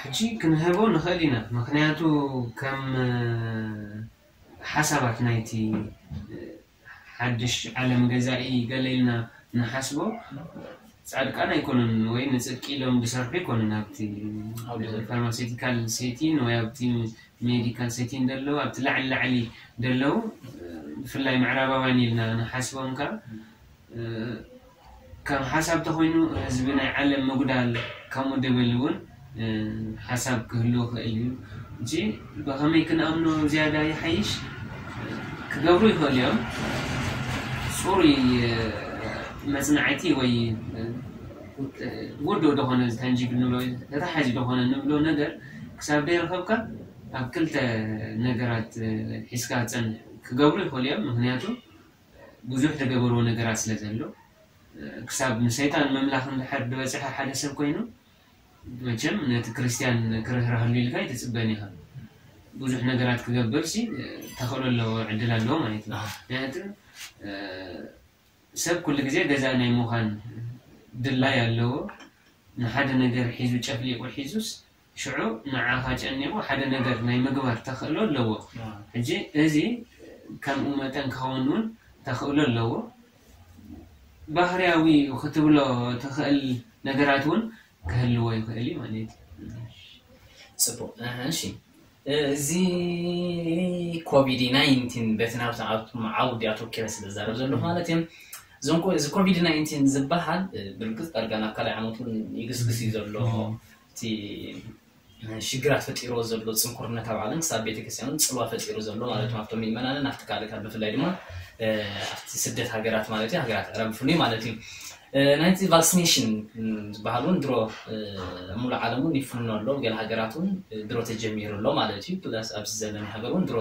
ሕጂ ክንህቦ ንኽእል ኢና። ምክንያቱ ከም ሓሳባት ናይቲ ሓድሽ ዓለም ገዛኢ ገለ ኢልና ንሓስቦ ፃድቃን ኣይኮኑን ወይ ንፅድቂ ኢሎም ዝሰርሑ ኣይኮኑን ኣብቲ ፋርማሴቲካል ሴቲን ወይ ኣብቲ ሜዲካል ሴቲን ደለዉ ኣብቲ ላዕሊ ላዕሊ ደለዉ ብፍላይ ምዕራባውያን ኢልና ንሓስቦም ከዓ ከም ሓሳብ ተኮይኑ ህዝቢ ናይ ዓለም ምጉዳል ከምኡ ድብል እውን ሓሳብ ክህልዎ ክእል እዩ እንጂ ብከመይ ክንኣምኖ ዝያዳ ይሓይሽ ክገብሩ ይኽእሉ እዮም። ፅሩይ መፅናዕቲ ወይ ውዱእ ዝኾነ ታንጂብል ንብሎ ተታሓዚ ዝኾነ ንብሎ ነገር ክሳብ ደይረኸብካ ኣብ ክልተ ነገራት ሒዝካ ፀንሕ ክገብሩ ይኽእሉ እዮም። ምክንያቱ ብዙሕ ዝገበርዎ ነገራት ስለ ዘሎ ክሳብ ንሰይጣን ምምላኽ እንድሕር ዝበፅሐ ሓደ ሰብ ኮይኑ መቸም ነቲ ክርስትያን ክርህረሃሉ ኢልካ ኣይትፅበን ኢኻ። ብዙሕ ነገራት ክገብር ሲ ተኽእሎ ኣለዎ ዕድል ኣለዎ ማለት እዩ። ምክንያቱ ሰብ ኩሉ ግዜ ገዛእ ናይ ምዃን ድላይ ኣለዎ። ንሓደ ነገር ሒዙ ጨፍሊቑ ሒዙስ ሽዑ ንዓኻ ጨኒቑ ሓደ ነገር ናይ ምግባር ተኽእሎ ኣለዎ። ሕጂ እዚ ከምኡ መጠን ክኸውን እውን ተኽእሎ ኣለዎ። ባህርያዊ ክትብሎ ትኽእል ነገራት እውን ክህልዎ ይኽእል እዩ ማለት እዩ። ፅቡቅ እሺ። እዚ ኮቪድ ናይንቲን በቲ ናብቲ ዓውዲ ኣተኪረ ስለ ዝዛረብ ዘለኹ ማለት እዮም። እዞም እዚ ኮቪድ ናይንቲን ዝበሃል ብርግፅ ዳርጋ ናብ ካልኣይ ዓመት እውን ይግስግስ እዩ ዘሎ። እቲ ሽግራት ፈጢርዎ ዘሎ ፅንኩርነት ኣብ ዓለም ክሳብ ቤተክርስትያን እውን ፅልዋ ፈጢሩ ዘሎ ማለት ነው። ኣብቶም ምእመናንን ኣብቲ ካልእታት ብፍላይ ድማ ኣብቲ ስደት ሃገራት ማለት እዩ ሃገራት ዕረብ ብፍሉይ ማለት እዩ። ናይቲ ቫክሲኔሽን ዝበሃል እውን ድሮ ሙሉእ ዓለም እውን ይፍኖ ኣሎ። ገለ ሃገራት እውን ድሮ ተጀሚሩ ኣሎ ማለት እዩ። ፕላስ ኣብዚ ዘለና ሃገር እውን ድሮ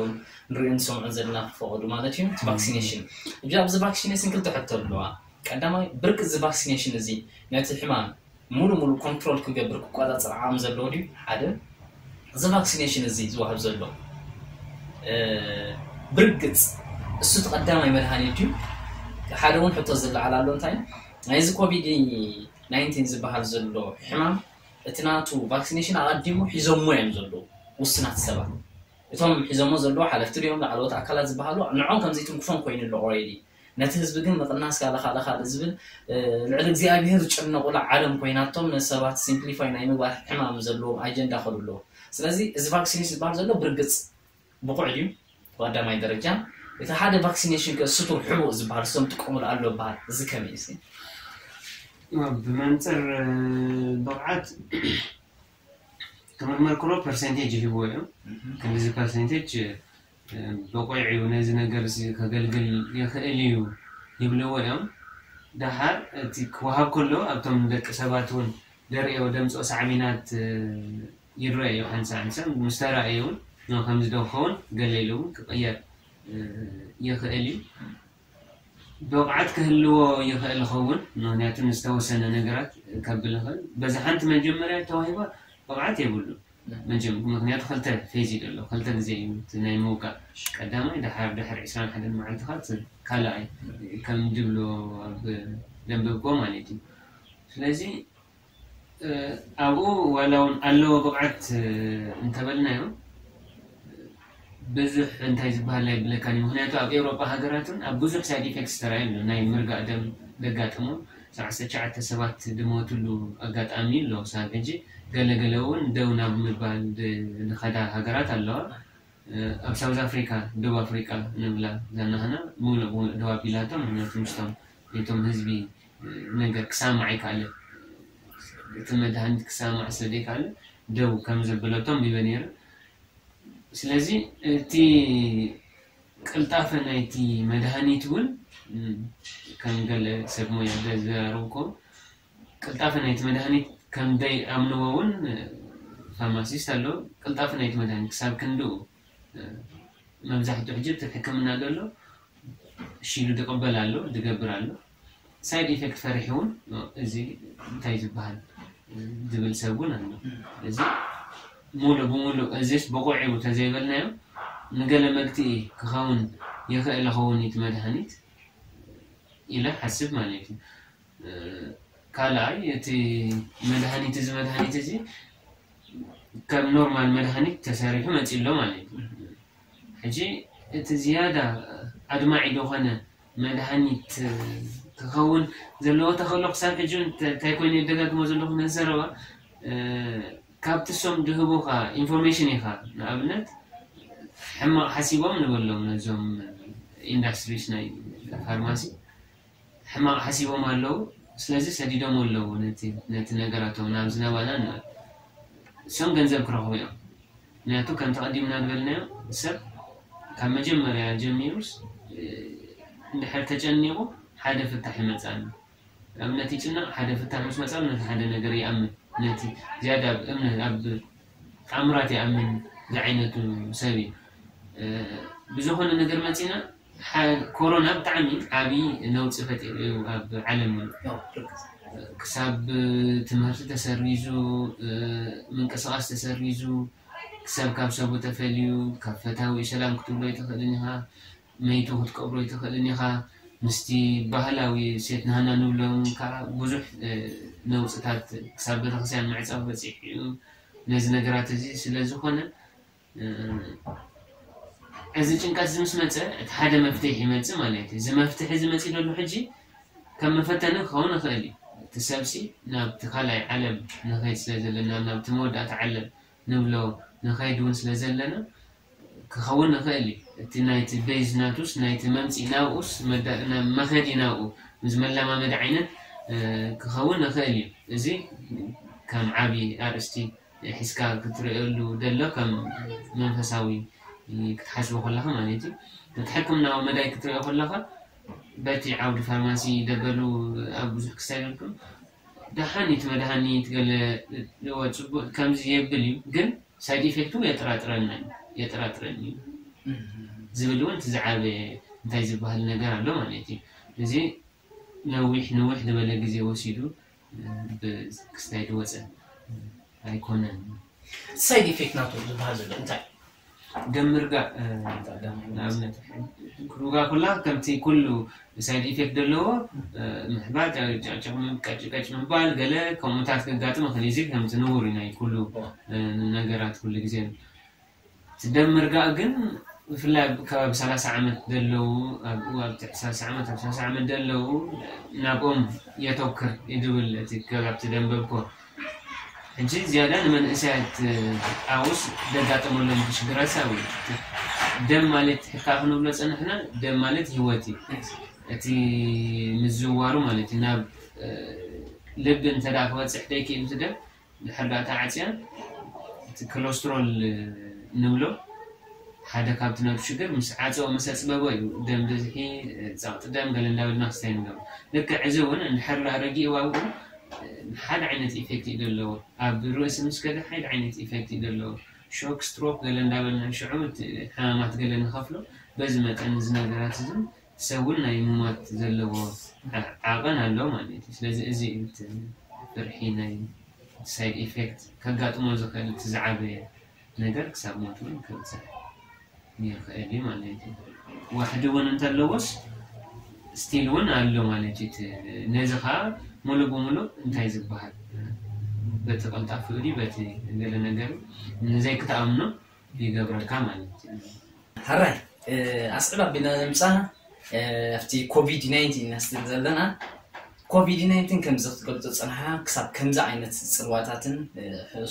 ንሪኦ ንሰምዖን ዘለና ክፈቐዱ ማለት እዩ። እቲ ቫክሲኔሽን እዚ ኣብዚ ቫክሲኔሽን ክልተ ሕቶ ኣለዋ። ቀዳማይ ብርቂ እዚ ቫክሲኔሽን እዚ ነቲ ሕማም ሙሉ ሙሉ ኮንትሮል ክገብር ክቆፃፀር ዓቕሚ ዘለዎ ድዩ? ሓደ እዚ ቫክሲኔሽን እዚ ዝወሃብ ዘሎ ብርግፅ እሱ እቲ ቀዳማይ መድሃኒት ድዩ? ሓደ እውን ሕቶ ዝለዓል ኣሎ። እንታይ ናይዚ ኮቪድ ናይንቲን ዝበሃል ዘሎ ሕማም እቲ ናቱ ቫክሲኔሽን ኣቐዲሙ ሒዞሞ እዮም ዘለዉ ውስናት ሰባት። እቶም ሒዞሞ ዘለዉ ሓለፍቲ ድዮም ላዕለዎት ኣካላት ዝበሃሉ ንዖም ከምዘይትንክፎም ኮይኑ ኣሎ ኦሬዲ። ነቲ ህዝቢ ግን ምቕናስ ካልእ ካልእ ካልእ ዝብል ልዕሊ እግዚኣብሄር ዝጨነቑላ ዓለም ኮይናቶም ንሰባት ሲምፕሊፋይ ናይ ምግባር ሕማም ዘለዎም ኣጀንዳ ከሉ ኣለዉ። ስለዚ እዚ ቫክሲኔሽን ዝበሃል ዘሎ ብርግፅ ብቑዕ ድዩ? ብቐዳማይ ደረጃ እቲ ሓደ ቫክሲኔሽን ከ ስቱር ሕቡእ ዝበሃል እሶም ጥቀሙሉ ኣሎ በሃል እዚ ከመይ እስኪ? ብመንፅር ብቕዓት ክምርመር ከሎ ፐርሰንቴጅ ይህብዎ እዮም። ክንዲዚ ፐርሰንቴጅ ብቑዕ እዩ ነዚ ነገር እዚ ከገልግል ይኽእል እዩ ይብልዎ እዮም። ደሓር እቲ ክወሃብ ከሎ ኣብቶም ደቂ ሰባት እውን ደርእዮ ደምፅኦ ሳዕቤናት ይረአ እዩ። ሓንሳ ሓንሳ ምስ ተራእየ እውን ከምዚ ዶ ክኸውን ገለ ኢሉ እውን ክቕየር ይኽእል እዩ። ብቕዓት ክህልዎ ይኽእል ይኸውን፣ ምኽንያቱ ንዝተወሰነ ነገራት ከብል ይኽእል። በዚ ሓንቲ መጀመርያ ተዋሂባ ብቕዓት የብሉን። መጀም ምክንያቱ ክልተ ፌዝ እዩ ዘሎ፣ ክልተ ግዜ እዩ እቲ ናይ ምውቃዕ። ቀዳማይ ድሓር ድሕሪ ዕስራን ሓደን መዓልትኻ እቲ ካልኣይ ከም ድብሎ ኣብ ደንበብኮ ማለት እዩ። ስለዚ ኣብኡ ዋላ እውን ኣለዎ ብቕዓት እንተበልናዮ ብዙሕ እንታይ ዝበሃል ኣይብለካን እዩ። ምክንያቱ ኣብ ኤውሮጳ ሃገራትን ኣብ ብዙሕ ሳይድ ኢፌክትስ ተራእዩ ኣሎ። ናይ ምርጋእ ደም ዘጋጠሞም ሰዓት ትሽዓተ ሰባት ዝሞትሉ ኣጋጣሚ ኣሎ። ክሳብ ሕጂ ገለገለ እውን ደው ናብ ምባል ዝኸዳ ሃገራት ኣለዋ። ኣብ ሳውዝ ኣፍሪካ፣ ደቡብ ኣፍሪካ ንብላ ዛናህና ሙሉእ ሙሉእ ደው ኣቢላቶም። ምክንያቱ ምስቶም ነቶም ህዝቢ ነገር ክሳማዕ ኣይከኣለ፣ እቲ መድሃኒት ክሳማዕ ስለ ዘይከኣለ ደው ከም ዘበለቶም ቢበ ነይሩ። ስለዚ እቲ ቅልጣፈ ናይቲ መድሃኒት እውን ከም ገለ ሰብ ሞያ ዘዘራረብኮ ቅልጣፈ ናይቲ መድሃኒት ከም ዘይኣምንዎ እውን ፋርማሲስት ኣለዉ። ቅልጣፈ ናይቲ መድሃኒት ክሳብ ክንድኡ መብዛሕትኡ ሕጂ እቲ ሕክምና ዘሎ ሽሉ ድቕበል ኣሎ ድገብር ኣሎ። ሳይድ ኢፌክት ፈሪሑ እውን እዚ እንታይ ዝበሃል ዝብል ሰብ እውን ኣሎ። እዚ ሙሉእ ብሙሉእ እዚስ ብቑዕ እዩ ተዘይበልናዮ ንገለ መግትኢ ክኸውን ይኽእል ይኸውን እቲ መድሃኒት ኢለ ሓስብ ማለት እዩ። ካልኣይ እቲ መድሃኒት እዚ መድሃኒት እዚ ከም ኖርማል መድሃኒት ተሰሪሑ መፂ ኣሎ ማለት እዩ። ሕጂ እቲ ዝያዳ ኣድማዒ ዝኾነ መድሃኒት ክኸውን ዘለዎ ተኽእሎ ክሳብ ሕጂ እንታይ ኮይኑ የደጋግሞ ዘለኹ ነዚ ዘረባ ካብቲ ሶም ድህቡኻ ኢንፎርሜሽን ኢኻ። ንኣብነት ሕማቕ ሓሲቦም ንበሎም ነዞም ኢንዳስትሪስ ናይ ፋርማሲ ሕማቕ ሓሲቦም ኣለዉ። ስለዚ ሰዲዶም ኣለዉ ነቲ ነቲ ነገራቶም ናብ ዝናባና ንበል። እሶም ገንዘብ ክረኽቡ እዮም። ምክንያቱ ከምቲ ቀዲምና ዝበልናዮ ሰብ ካብ መጀመርያ ጀሚሩስ እንድሕር ተጨኒቑ ሓደ ፍታሕ ይመፅኣሉ። ንኣብነት ይጭነቕ ሓደ ፍታሕ ምስ መፅኣሉ ነቲ ሓደ ነገር ይኣምን። ነቲ ዝያዳ ኣብ እምነት ኣብ ተኣምራት ይኣምን ዝዓይነቱ ሰብ እዩ። ብዝኾነ ነገር መፂና ኮሮና ብጣዕሚ ዓብዪ ነውፂ ፈጢሩ እዩ ኣብ ዓለም። ክሳብ ትምህርቲ ተሰሪዙ፣ ምንቅስቓስ ተሰሪዙ፣ ሰብ ካብ ሰቡ ተፈልዩ፣ ካብ ፈታዊ ሰላም ክትብሎ ኣይትኽእልን ኢኻ፣ መይቱ ክትቀብሮ ኣይትኽእልን ኢኻ። ምስቲ ባህላዊ ሴት ናህና ንብሎም ከዓ ብዙሕ ነውፅታት ክሳብ ቤተክርስትያን ምዕፃው በፂሑ እዩ። ነዚ ነገራት እዚ ስለ ዝኾነ እዚ ጭንቀት እዚ ምስ መፀ እቲ ሓደ መፍትሒ ይመፅእ ማለት እዩ። እዚ መፍትሒ እዚ መፂእ ዘሎ ሕጂ ከም መፈተኒ ክኸውን ይኽእል እዩ። እቲ ሰብሲ ናብቲ ካልኣይ ዓለም ንኸይድ ስለ ዘለና ናብቲ መወዳእታ ዓለም ንብሎ ንኸይድ እውን ስለ ዘለና ክኸውን ይኽእል እዩ። እቲ ናይቲ ቤዝ ናቱስ ናይቲ መምፅኢ ናብኡስ መከዲ ናብኡ ምስ መለማመዲ ዓይነት ክኸውን ይኽእል እዩ። እዚ ከም ዓብዪ ኣርእስቲ ሒዝካ ክትርእየሉ ደሎ ከም መንፈሳዊ ክትሓስቦ ከለኻ ማለት እዩ። እቲ ሕክምናዊ መዳይ ክትርእዮ ከለኻ በቲ ዓውዲ ፋርማሲ ደበሉ ኣብ ብዙሕ ክሳይ ደልኩም ደሓኒት መድሃኒት ገለ ጽቡቅ ከምዚ የብል እዩ ግን ሳይድ ኢፌክቱ የጠራጥረና የጠራጥረኒ እዩ ዝብል እውን እቲ ዝዓበየ እንታይ ዝበሃል ነገር ኣሎ ማለት እዩ። እዚ ነዊሕ ንውሕ ዝበለ ግዜ ወሲዱ ብክስታይ ዝወፀ ኣይኮነን። ሳይድ ኢፌክት ናቱ ዝበሃል ዘሎ እንታይ? ደም ምርጋእ ንኣብነት ክሩጋ ኩላ ከምቲ ኩሉ ሳይድ ኢፌክት ዘለዎ ምሕባጥ ጨቅጨቅ ቀጭቀጭ ምባል ገለ ከምኡታት ከጋጥም ይኽእል እዩ። ከምቲ ንቡር እዩ ናይ ኩሉ ነገራት ኩሉ ግዜ። እቲ ደም ምርጋእ ግን ብፍላይ ኣብ ከባቢ ሰላሳ ዓመት ዘለዉ ኣብኡ ኣብ ትሕቲ ሰላሳ ዓመት ኣብ ሰላሳ ዓመት ዘለዉ ናብኦም የተውክር ይድብል እቲ ከባብቲ ደንበብኮ ሕጂ ዝያዳ ንመንእሰያት ኣውስ ደጋጠመሎም ሽግራት ሳዊ ደም ማለት ሕካ ክንብሎ ፀንሕና ደም ማለት ህይወት እዩ። እቲ ምዝዋሩ ማለት እዩ ናብ ልቢ እንተ ክበፅሕ ደይክእል እቲ ደም ድሕር ዳኣ ተዓፅያ እቲ ኮለስትሮል ንብሎ ሓደ ካብቲ ነቱ ሽግር ምስ ዓፀኦ ምስ ኣፅበቦ እዩ ደም ብዝሒ፣ ፃቕጢ ደም ገለ እንዳበልና ክስታይ ንገብሮ። ልክዕ እዚ እውን እንድሕር ዳኣ ረጊእዋ እውን ሓደ ዓይነት ኢፌክት እዩ ዘለዎ። ኣብ ርእሲ ምስ ከደ ሓደ ዓይነት ኢፌክት እዩ ዘለዎ። ሾክ፣ ስትሮክ ገለ እንዳበልና ሽዑ እቲ ሕማማት ገለ ንኸፍሎ፣ በዚ መጠን እዚ ነገራት እዚ ሰብ እውን ናይ ምማት ዘለዎ ዓቐን ኣሎ ማለት እዩ። ስለዚ እዚ እዩ እቲ ፍርሒ ናይ ሳይድ ኢፌክት ከጋጥሞ ዝኽእል እቲ ዝዓበየ ነገር ክሳብ ሞት እውን ከብፅሕ ይኽእል እዩ ማለት እዩ። ዋሕዲ እውን እንተለዎስ ስቲል እውን ኣሎ ማለት እዩ። እቲ ነዚ ከዓ ሙሉእ ብሙሉእ እንታይ ዝበሃል በቲ ቀልጣፍኡ ድዩ በቲ ገለ ነገር ንዘይክትኣምኖ ይገብረልካ ማለት እዩ። ሕራይ ኣስዕብ ኣቢልና ንምፃና ኣብቲ ኮቪድ ናይንቲን ኢና ስትል ዘለና። ኮቪድ ናይንቲን ከምዚ ክትገልፆ ፅንሓ ክሳብ ከምዚ ዓይነት ፅልዋታትን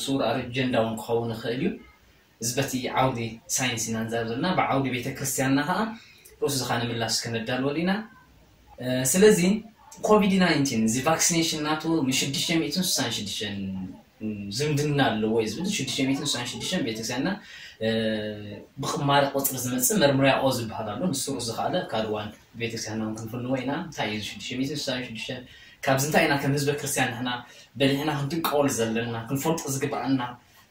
ስውር ኣጀንዳ እውን ክኸውን ይኽእል እዩ። እዚ በቲ ዓውዲ ሳይንስ ኢና ንዛረብ ዘለና። ብዓውዲ ቤተክርስትያንና ከዓ ርእሱ ዝኻነ ምላሽ ከነዳልወሉ ኢና። ስለዚ ኮቪድ ናይንቲን እዚ ቫክሲኔሽን ናቱ ን ሽዱሽተ ሚእትን ስሳን ሽዱሽተን ዝምድና ኣለዎ እዩ ዝብል። ሽዱሽተ ሚእትን ስሳን ሽዱሽተን ቤተክርስትያንና ብቕማረ ቁፅሪ ዝመፅእ መርምርያኦ ዝበሃል ኣሎ። ንሱ ርእሱ ዝኸኣለ ካልእ እዋን ቤተክርስትያንና እውን ክንፍንዎ ኢና። እንታይ እዩ ሽዱሽተ ሚእትን ስሳን ሽዱሽተን? ካብዚ እንታይ ኢና ከም ህዝበ ክርስትያን ንሕና በሊሕና ክንጥንቀቐሉ ዘለና፣ ክንፈልጦ ዝግብኣና?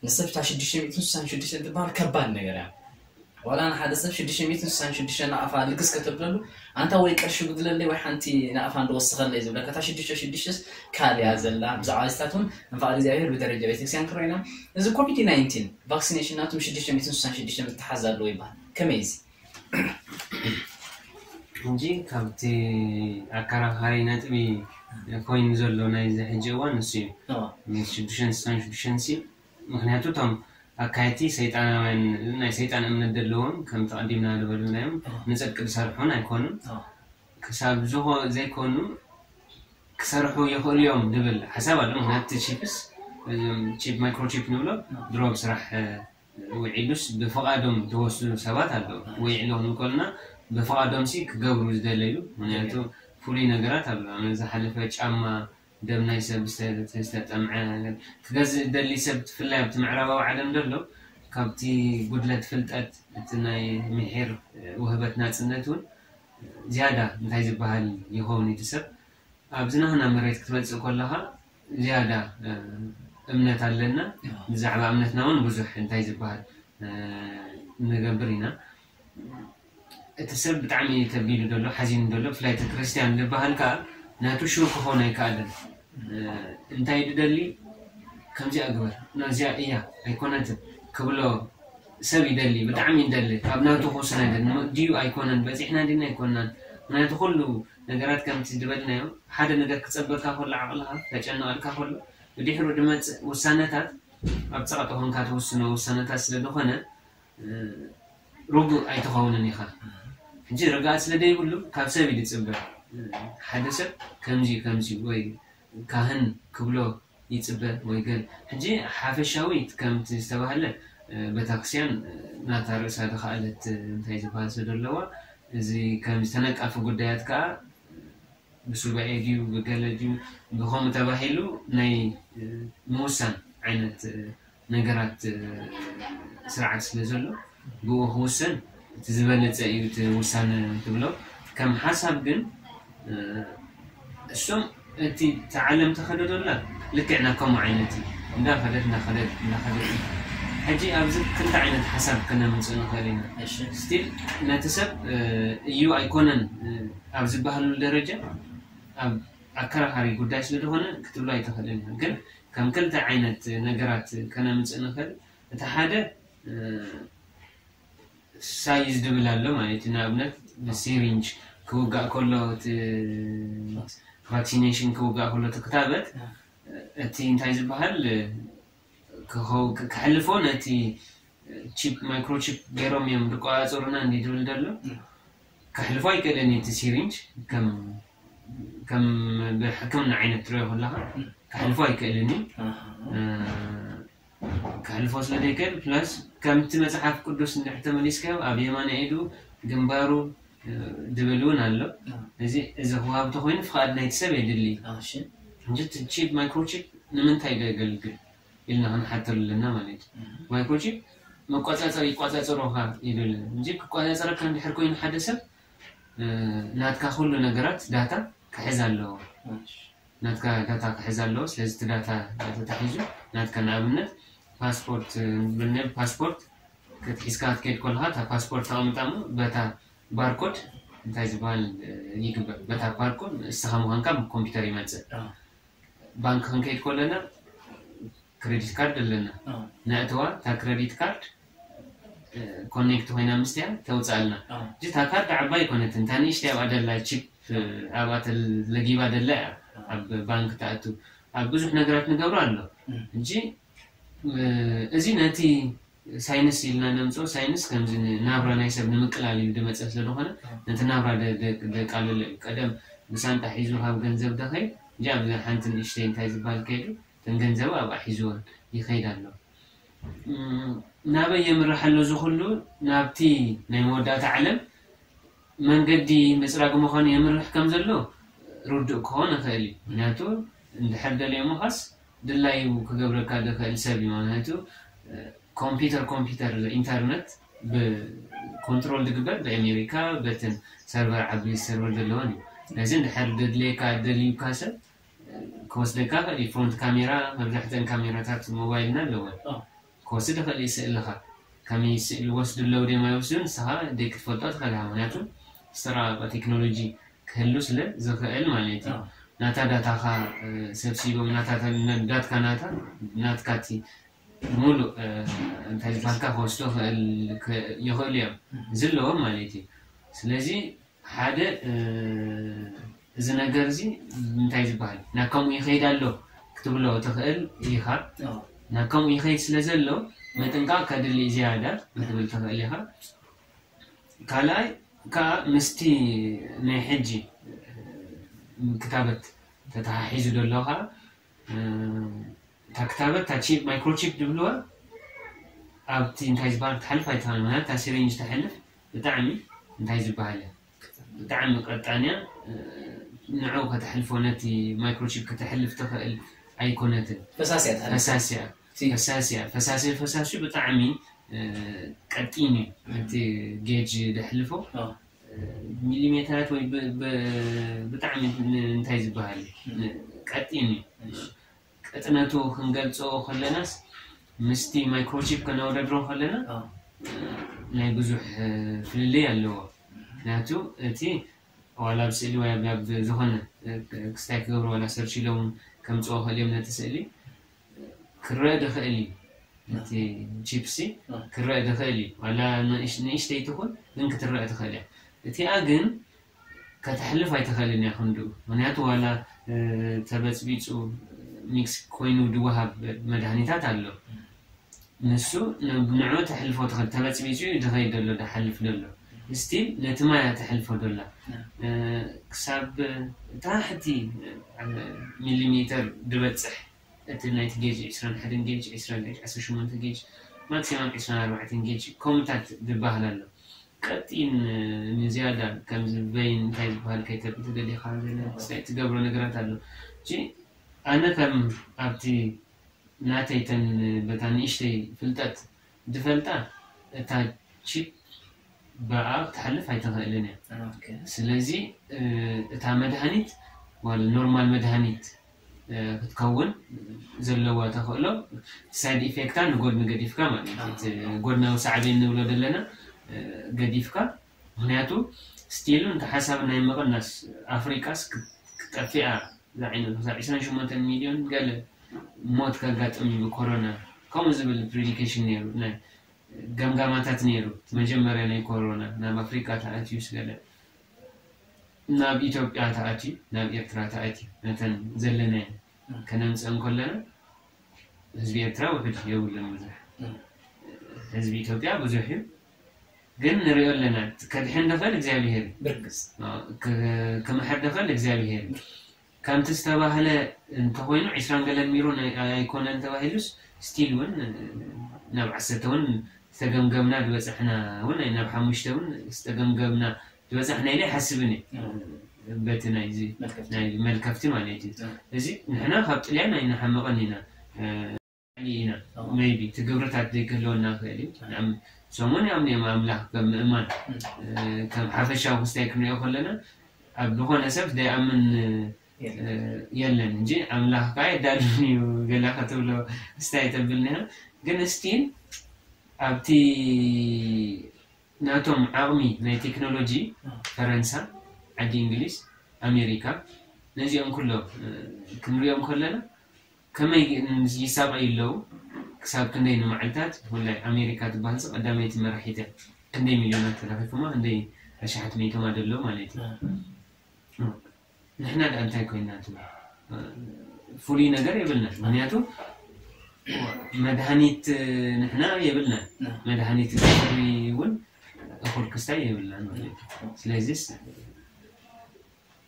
ንሰብ እታ ሽዱሽተ ሚእትን ስሳን ሽዱሽተን ትበሃል ከባድ ነገር እያ። ዋላ ንሓደ ሰብ ሽዱሽተ ሚእትን ስሳን ሽዱሽተን ናቕፋ ልግስ ከተብለሉ፣ ኣንታ ወይ ቅርሺ ጉድለለይ ወይ ሓንቲ ናቕፋ እንደወስኸለይ ዝብለካ፣ እታ ሽዱሽተ ሽዱሽተስ ካልያ ዘላ። ብዛዕባ እዚታት እውን ንፍቓድ እግዚኣብሔር ብደረጃ ቤተክርስትያን ክንሪኦ ኢና። እዚ ኮቪድ ናይንቲን ቫክሲኔሽን ናቱ ም ሽዱሽተ ሚእትን ስሳን ሽዱሽተን ምትሓዝ ኣለዎ ይበሃል። ከመይ እዚ? ሕጂ ካብቲ ኣከራኻሪ ነጥቢ ኮይኑ ዘሎ ናይዚ ሕጂ እዋን ንሱ እዩ። ሽዱሽተን ስሳን ሽዱሽተን ሲ ምክንያቱ እቶም ኣካየድቲ ሰይጣናውያን ናይ ሰይጣን እምነት ዘለዎም ከም ተቐዲምና ዝበልናዮም ንፅድቂ ዝሰርሑን ኣይኮኑን። ክሳብ ዝኾ ዘይኮኑ ክሰርሑ ይኽእሉ እዮም ዝብል ሓሳብ ኣሎ። ምክንያቱ እቲ ቺፕስ ቺፕ ማይክሮቺፕ ንብሎ ድሮ ብስራሕ ውዒሉስ ብፍቓዶም ተወስኑ ሰባት ኣለዉ። ውዒሉ ክንብል ከለና ብፍቓዶም ሲ ክገብሩ ዝደለዩ ምክንያቱ ፍሉይ ነገራት ኣሎ። ኣነ ዝሓለፈ ጫማ ደም ናይ ሰብ ዝተጠምዐ ነገር ክገዝእ ደሊ ሰብ ትፍላይ ኣብቲ ምዕራባዊ ዓለም ዘሎ ካብቲ ጉድለት ፍልጠት እቲ ናይ ምሒር ውህበት ናፅነት እውን ዝያዳ እንታይ ዝበሃል ይኸውን እቲ ሰብ ኣብዚ ናህና መሬት ክትመፅእ ከለኻ ዝያዳ እምነት ኣለና። ብዛዕባ እምነትና እውን ብዙሕ እንታይ ዝበሃል ንገብር ኢና። እቲ ሰብ ብጣዕሚ ከቢዱ ዘሎ ሓዚኑ ዘሎ ብፍላይ እቲ ክርስትያን ዝበሃል ከዓ ናቱ ሽው ክኾን ኣይከኣልን። እንታይ ድደሊ ከምዚኣ ግበር ናዚኣ እያ ኣይኮነትን ክብሎ ሰብ ይደሊ፣ ብጣዕሚ ይደሊ። ኣብ ናቱ ክውስን ኣይደልን። ድዩ ኣይኮነን፣ በፂሕና ድና ኣይኮናን። ምክንያቱ ኩሉ ነገራት ከምቲ ዝበልናዮ ሓደ ነገር ክፀበካ ከሎ ዓቕልካ ከጨንቐልካ ከሎ ብድሕሩ ድመፅእ ውሳነታት ኣብ ፀቕጢ ኮንካ ትውስኖ ውሳነታት ስለ ዝኾነ ርጉእ ኣይትኸውንን ኢኻ። ሕጂ ርግኣት ስለ ደይብሉ ካብ ሰብ እዩ ዝፅበ። ሓደ ሰብ ከምዚ ከምዚ ወይ ካህን ክብሎ ይፅበ ወይ ገል ሕጂ ሓፈሻዊ ከምቲ ዝተባህለ ቤተክርስትያን ናታ ርእሳ ዝኸኣለት እንታይ ዝበሃል ስለ ዘለዋ እዚ ከምዚ ተነቃፊ ጉዳያት ከዓ ብሱባኤ ድዩ ብገለ ድዩ ብኸምኡ ተባሂሉ ናይ ምውሳን ዓይነት ነገራት ስርዓት ስለ ዘሎ ብኡ ክውሰን እቲ ዝበለፀ እዩ እቲ ውሳነ ትብሎ። ከም ሓሳብ ግን እሶም እቲ ዓለም ተኸደዶላ ልክዕና ከምኡ ዓይነት እዩ እንዳኸደት እንዳኸደት እንዳኸደት ሕጂ ኣብዚ ክልተ ዓይነት ሓሳብ ከነምፅእ ንኽእል ኢና። ስቲል ነቲ ሰብ እዩ ኣይኮነን ኣብ ዝበሃሉ ደረጃ ኣብ ኣከራኻሪ ጉዳይ ስለ ዝኾነ ክትብሎ ኣይትኽእልን ኢኻ። ግን ከም ክልተ ዓይነት ነገራት ከነምፅእ ንኽእል። እቲ ሓደ ሳይዝ ድብል ኣሎ ማለት እዩ። ንኣብነት ብሲሪንጅ ክውጋእ ከሎ እቲ ቫክሲኔሽን ክውጋእ ከሎ እቲ ክታበት እቲ እንታይ ዝበሃል ክሕልፎ ነቲ ቺፕ ማይክሮቺፕ ገይሮም እዮም ዝቆፃፀሩና እንዲ ድብል ዘሎ ከሕልፎ ኣይክእልን እቲ ሲሪንጅ ከም ከም ብሕክምና ዓይነት ትሪኦ ከለካ ክሕልፎ ኣይክእልን እዩ። ክሕልፎ ስለ ዘይክእል ፕላስ ከምቲ መፅሓፍ ቅዱስ እንድሕር ተመሊስካዮ ኣብ የማናይ ኢዱ ግንባሩ ድብል እውን ኣሎ። እዚ እዚ ክዋብ ተኮይኑ ፍቃድ ናይቲ ሰብ የድሊ። ሕጂ እቲ ቺፕ ማይክሮቺፕ ንምንታይ ዶ የገልግል? ኢልና ክንሓተሉ ኣለና ማለት እዩ። ማይክሮቺፕ መቆጻጸር ይቆጻጸሮኻ ኢሉ ኣሎ እንጂ ክቆጻጸረካ እንድሕር ኮይኑ ሓደ ሰብ ናትካ ኩሉ ነገራት ዳታ ክሕዝ ኣለዎ። ናትካ ዳታ ክሕዝ ኣለዎ። ስለዚ እቲ ዳታ ተታሒዙ ናትካ ንኣብነት ፓስፖርት ብልነ ፓስፖርት ክትሒዝካ ክትከይድ ከለካ እታ ፓስፖርት ተቐምጣ እሞ በታ ባርኮድ እንታይ ዝበሃል ይግበር በታ ባርኮድ እስኻ ምዃንካ ኮምፒውተር ይመፅእ። ባንክ ክንከይድ ከለና ክሬዲት ካርድ ኣለና። ነእተዋ እታ ክሬዲት ካርድ ኮኔክት ኮይና ምስቲያ ተውፅኣልና። እታ ካርድ ዓባይ ይኮነትን እታ ንእሽተይ ኣብኣ ደላ ቺፕ ኣብኣ ተለጊባ ደላ እያ ኣብ ባንክ ተኣቱ ኣብ ብዙሕ ነገራት ንገብሮ ኣሎ እንጂ እዚ ነቲ ሳይንስ ኢልና ነምፅኦ ሳይንስ ከምዚ ናብራ ናይ ሰብ ንምቅላል እዩ ዝመፀ ስለዝኮነ ነቲ ናብራ ደቃልሎ እዩ። ቀደም ብሳንጣ ሒዙ ካብ ገንዘብ ደኸይ እንጂ ኣብዚ ሓንቲ ንእሽተይ እንታይ ዝበሃል ከይዱ እተን ገንዘቡ ኣብኣ ሒዝወን ይኸይድ ኣሎ። ናበይ የምርሕ ኣሎ እዚ ኩሉ ናብቲ ናይ መወዳእታ ዓለም መንገዲ ምፅራግ ምዃኑ የምርሕ ከም ዘሎ ርዱእ ክኾን ይኽእል እዩ። ምክንያቱ እንድሕር ደልዮ ምዃስ ድላዩ ክገብረካ ዝኽእል ሰብ እዩ። ምክንያቱ ኮምፒውተር ኮምፒውተር ኢንተርነት ብኮንትሮል ዝግበር ብኣሜሪካ በትን ሰርቨር ዓቢ ሰርቨር ዘለዎን እዩ። ነዚ እንድሕር ደድልየካ ደልዩካ ሰብ ክወስደካ ይኽእል እዩ። ፍሮንት ካሜራ መብዛሕተን ካሜራታት ሞባይልና ኣለወን። ክወስድ ይኽእል እዩ ስእልኻ። ከመይ ስእሊ ወስዱ ኣለዉ ድዮም ኣይወስዱን ንስኻ ደይ ክትፈልጦ ትኽእል ኢኻ። ምክንያቱ ዝተራቐቐ ቴክኖሎጂ ክህሉ ስለ ዝኽእል ማለት እዩ። ናታ ዳታኻ ሰብሲቦም ናታ ዳትካ ናታ ናትካ እቲ ሙሉእ እንታይ ዝበሃልካ ክወስዶ ይኽእሉ እዮም። እዚ ኣለዎም ማለት እዩ። ስለዚ ሓደ እዚ ነገር እዚ እንታይ ዝበሃል ናብ ከምኡ ይኸይድ ኣሎ ክትብሎ ትኽእል ኢኻ። ናብ ከምኡ ይኸይድ ስለ ዘሎ ምጥንቃቕ ከድሊ ዝያዳ ክትብል ትኽእል ኢኻ። ካልኣይ ከዓ ምስቲ ናይ ሕጂ ክታበት ተተሓሒዙ ዘሎ ከዓ እታ ክታበት እታ ቺፕ ማይክሮቺፕ ዝብልዋ ኣብቲ እንታይ ዝበሃል ክትሓልፍ ኣይትኽእል። ምክንያቱ እታ ሲሪንጅ ተሕልፍ ብጣዕሚ እንታይ ዝበሃል እያ ብጣዕሚ ቀጣን እያ። ንዑ ከተሕልፎ ነቲ ማይክሮቺፕ ከተሕልፍ ትኽእል ኣይኮነትን። ፈሳሲ እያ ትሓልፍ። ፈሳሲ እያ። ፈሳሲ እያ። ፈሳሲ ፈሳሲ ብጣዕሚ ቀጢን እዩ። እቲ ጌጅ ደሕልፎ ሚሊሜተራት ወይ ብጣዕሚ እንታይ ዝበሃል ቀጢን እዩ። ቅጥነቱ ክንገልጾ ከለናስ ምስቲ ማይክሮቺፕ ከነወዳድሮ ከለና ናይ ብዙሕ ፍልልይ ኣለዎ። ምክንያቱ እቲ ዋላ ኣብ ስእሊ ወይ ኣብ ዝኾነ ክስታይ ክገብሩ ዋላ ሰርች ኢሎም ከምፅኦ ከልዮም ነቲ ስእሊ ክረአ ድኽእል እዩ። እቲ ቺፕሲ ክረአ ድኽእል እዩ። ዋላ ንእሽተይ ትኹን ግን ክትረአ ትኽእል እያ። እቲኣ ግን ከተሕልፍ ኣይትኽእልን እያ ክንድኡ። ምክንያቱ ዋላ ተበፅቢፁ ሚክስ ኮይኑ ድወሃብ መድሃኒታት ኣሎ። ንሱ ንዑ ተሕልፎ ትኽእል ተበፅቢፁ እዩ ድኸይድ ዘሎ ድሓልፍ ዘሎ ስቲል ነቲ ማያ ተሕልፎ ዶላ ክሳብ ታሕቲ ሚሊሜተር ድበፅሕ እቲ ናይቲ ጌጅ ዕስራን ሓደን ጌጅ ዕስራ ጌጅ ዓሰርተ ሸሞንተ ጌጅ ማክሲማም ዕስራን ኣርባዕተን ጌጅ ከምኡታት ዝበሃል ኣሎ። ቀጢን ንዝያዳ ከምዚ ቨይን እንታይ ዝበሃል ከይተብል ተደሊኻ ትገብሮ ነገራት ኣሎ። ኣነ ከም ኣብቲ ናተይ ተን በታ ንእሽተይ ፍልጠት ድፈልጣ እታ ቺፕ ብኣ ክትሓልፍ ኣይትኽእልን እያ። ስለዚ እታ መድሃኒት ዋላ ኖርማል መድሃኒት ክትከውን ዘለዋ ተኽእሎ ሳይድ ኢፌክታ ንጎድኒ ገዲፍካ ማለት እዩ። ጎድናዊ ሳዕቤን ንብሎ ዘለና ገዲፍካ ምክንያቱ ስቲሉ እንተ ሓሳብ ናይ ምቕናስ ኣፍሪቃስ ክጠፊኣ ዝዓይነቱ ክሳብ ዕስራን ሸሞንተን ሚልዮን ገለ ሞት ከጋጥም እዩ ብኮሮና ከምኡ ዝብል ፕሪዲኬሽን ነይሩ ናይ ገምጋማታት ነይሩ። መጀመርያ ናይ ኮሮና ናብ ኣፍሪቃ ተኣትዩስ ገለ ናብ ኢትዮጵያ ተኣትዩ ናብ ኤርትራ ተኣትዩ ነተን ዘለናየን ከነምፀን ከለና ህዝቢ ኤርትራ ውሕድ የብሉን ብዙሕ ህዝቢ ኢትዮጵያ ብዙሕ እዩ። ግን ንሪኦ ኣለና ከድሕን ደኽእል እግዚኣብሄር እዩ። ብርግፅ ክምሕር ደኽእል እግዚኣብሄር እዩ። ከምቲ ዝተባህለ እንተኮይኑ ዕስራን ገለን ሚሮ ኣይኮነን ተባሂሉስ ስቲል እውን ናብ ዓሰርተ እውን ዝተገምገምና ዝበፃሕና እውን ናብ ሓሙሽተ እውን ዝተገምገምና ዝበፃሕና ኢለ ኣይሓስብን እየ። በቲ ናይዚ ናይ መልከፍቲ ማለት እዩ። እዚ ንሕና ካብ ጥልያን ኣይንሓምቕን ኢና። ኢና ሜይቢ እቲ ግብርታት ዘይክህልወና ክእል እዩ። ሰሙን ያም ኣምላኽ ከም ምእማን ከም ሓፈሻዊ ክስታይ ክንሪኦ ከለና ኣብ ዝኾነ ሰብ ዘይኣምን የለን እንጂ ኣምላኽ ከዓ የዳልን እዩ ገላ ክትብሎ ክስታይ ተብልኒሃ። ግን ስቲል ኣብቲ ናቶም ዓቕሚ ናይ ቴክኖሎጂ ፈረንሳ፣ ዓዲ እንግሊዝ፣ ኣሜሪካ ነዚኦም ኩሎም ክንሪኦም ከለና ከመይ ይሳቐዩ ኣለዉ። ክሳብ ክንደይ ንመዓልታት ብፍላይ ኣሜሪካ ትበሃል ቀዳመይቲ መራሒት እያ። ክንደይ ሚልዮናት ተለኺፉማ ክንደይ ኣሽሓት መይቶማ ደሎ ማለት እዩ። ንሕና ደኣ እንታይ ኮይና ትብል? ፍሉይ ነገር የብልና። ምክንያቱ መድሃኒት ንሕና የብልና። መድሃኒት ፍሉይ እውን እኹል ክስታይ የብልና ማለት እዩ። ስለዚስ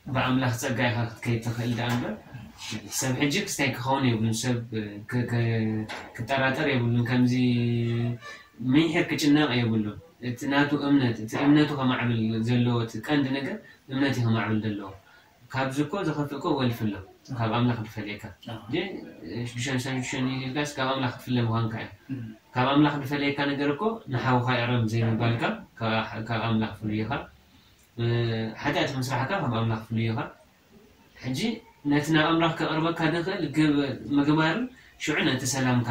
ብኣምላኽ ጸጋ ኢኻ ክትከይድ ትኽእል ደኣ እምበር ሰብ ሕጂ ክስታይ ክኸውን የብሉን። ሰብ ክጠራጠር የብሉን። ከምዚ ምንሕር ክጭነቕ የብሉን። እቲ ናቱ እምነት እቲ እምነቱ ከማዕብል ዘለዎ እቲ ቀንዲ ነገር እምነት እዩ ከማዕብል ዘለዎ። ካብዚ እኮ ዝኸፍእ እኮ ወልፊ ኣሎ። ካብ ኣምላኽ ዝፈለየካ ሽዱሽተ ሽዱሽተ ኢልካስ ካብ ኣምላኽ ክትፍለ ምዃንካ እዩ። ካብ ኣምላኽ ዝፈለየካ ነገር እኮ ንሓውካ ይቕረብ ዘይምባልካ ካብ ኣምላኽ ፍሉይ ኢኻ። ሓጢኣት ምስራሕካ ካብ ኣምላኽ ፍሉይ ኢኻ። ሕጂ ነቲ ናብ ኣምላኽ ከቕርበካ ዝኽእል ምግባርን ሽዑ ነቲ ሰላምካ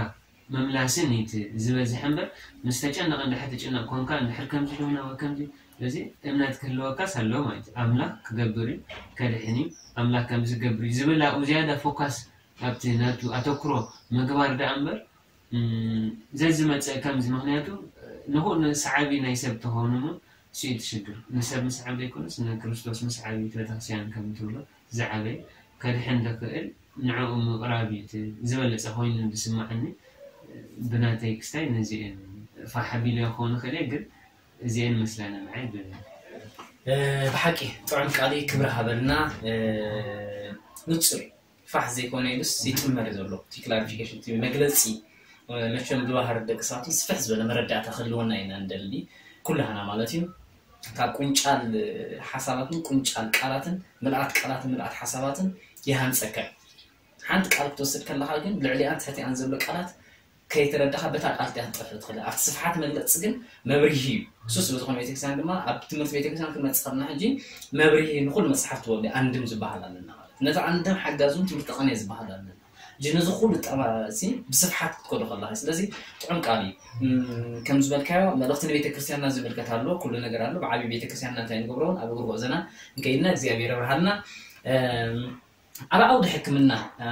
ምምላስን እዩ እቲ ዝበዝሐ እምበር ምስ ተጨነቐ እንድሕር ትጭነቕ ኮንካ እንድሕር ከምዚ ዶና ወይ ከምዚ እዚ እምነት ክህልወካስ ኣለዎ ማለት እዩ። ኣምላኽ ክገብር እዩ ከድሕን እዩ ኣምላኽ ከምዚ ክገብር እዩ ዝብል ኣብኡ ዝያዳ ፎካስ ኣብቲ ናቱ ኣተኩሮ ምግባር ደኣ እምበር ዘዝመፀ ከምዚ ምክንያቱ ንኹ ንሰዓቢ ናይ ሰብ ተኾኑ እሞ እሱ እዩ ትሽግር ንሰብ ምስዓብ ዘይኮነስ ንክርስቶስ ምስዓብ እዩ ቤተክርስቲያን ከም ትብሎ ዝዓበየ ከድሕን ዝኽእል ንዕኡ ምቕራብ እዩ ዝበለፀ ኮይኑ ዝስማዓኒ። ብናተይ ክስታይ ነዚአን ፋሕ ኣቢለ ክኸውን ይኽእል እየ ግን እዚአን መስላና ንዓይ ብ ብሓቂ ጥዑም ቃሊ ክብሪ ሃበልና። ንፁር ፋሕ ዘይኮነ ኢሉስ ይጥመር ዘሎ እቲ ክላሪፊኬሽን እቲ መግለፂ መቸም ብባህር ደቂ ሰባት ስፍሕ ዝበለ መረዳእታ ክህልወና ኢና እንደሊ ኩላህና ማለት እዩ። ካብ ቁንጫል ሓሳባትን ቁንጫል ቃላትን ምልኣት ቃላትን ምልኣት ሓሳባትን ይሃንፀካ። ሓንቲ ቃል ክትወስድ ከለካ ግን ልዕሊኣን ትሕቲኣን ዘሎ ቃላት ከይተረዳኻ በታ ቃል እቲኣ ክትጠፍእ ትኽእል ኣብቲ ስፍሓት መግለፂ ግን መብርሂ እዩ። እሱ ስለ ዝኾነ ቤተክርስትያን ድማ ኣብ ትምህርቲ ቤተክርስትያን ክንመፅእ ከለና ሕጂ መብርሂ ንኩሉ መፅሓፍ ትወዲ ኣንድም ዝበሃል ኣለና ማለት ነቲ ኣንድም ሓጋዙን ትምህርቲ ቅኔ ዝበሃል ኣለና። ሕጂ ነዚ ኩሉ ጠባ እዚ ብስፍሓት ክትከዶ ከለካ ስለዚ ጥዑም ቃል እዩ። ከም ዝበልካዮ መልእኽቲ ንቤተክርስትያንና ዝምልከት ኣሎ ኩሉ ነገር ኣሎ ብዓብዪ ቤተክርስትያንና እንታይ ንገብሮ እውን ኣብ እግሪ ጉዕዞና እንከይድና እግዚኣብሔር ይብርሃልና። ኣብ ዓውዲ ሕክምና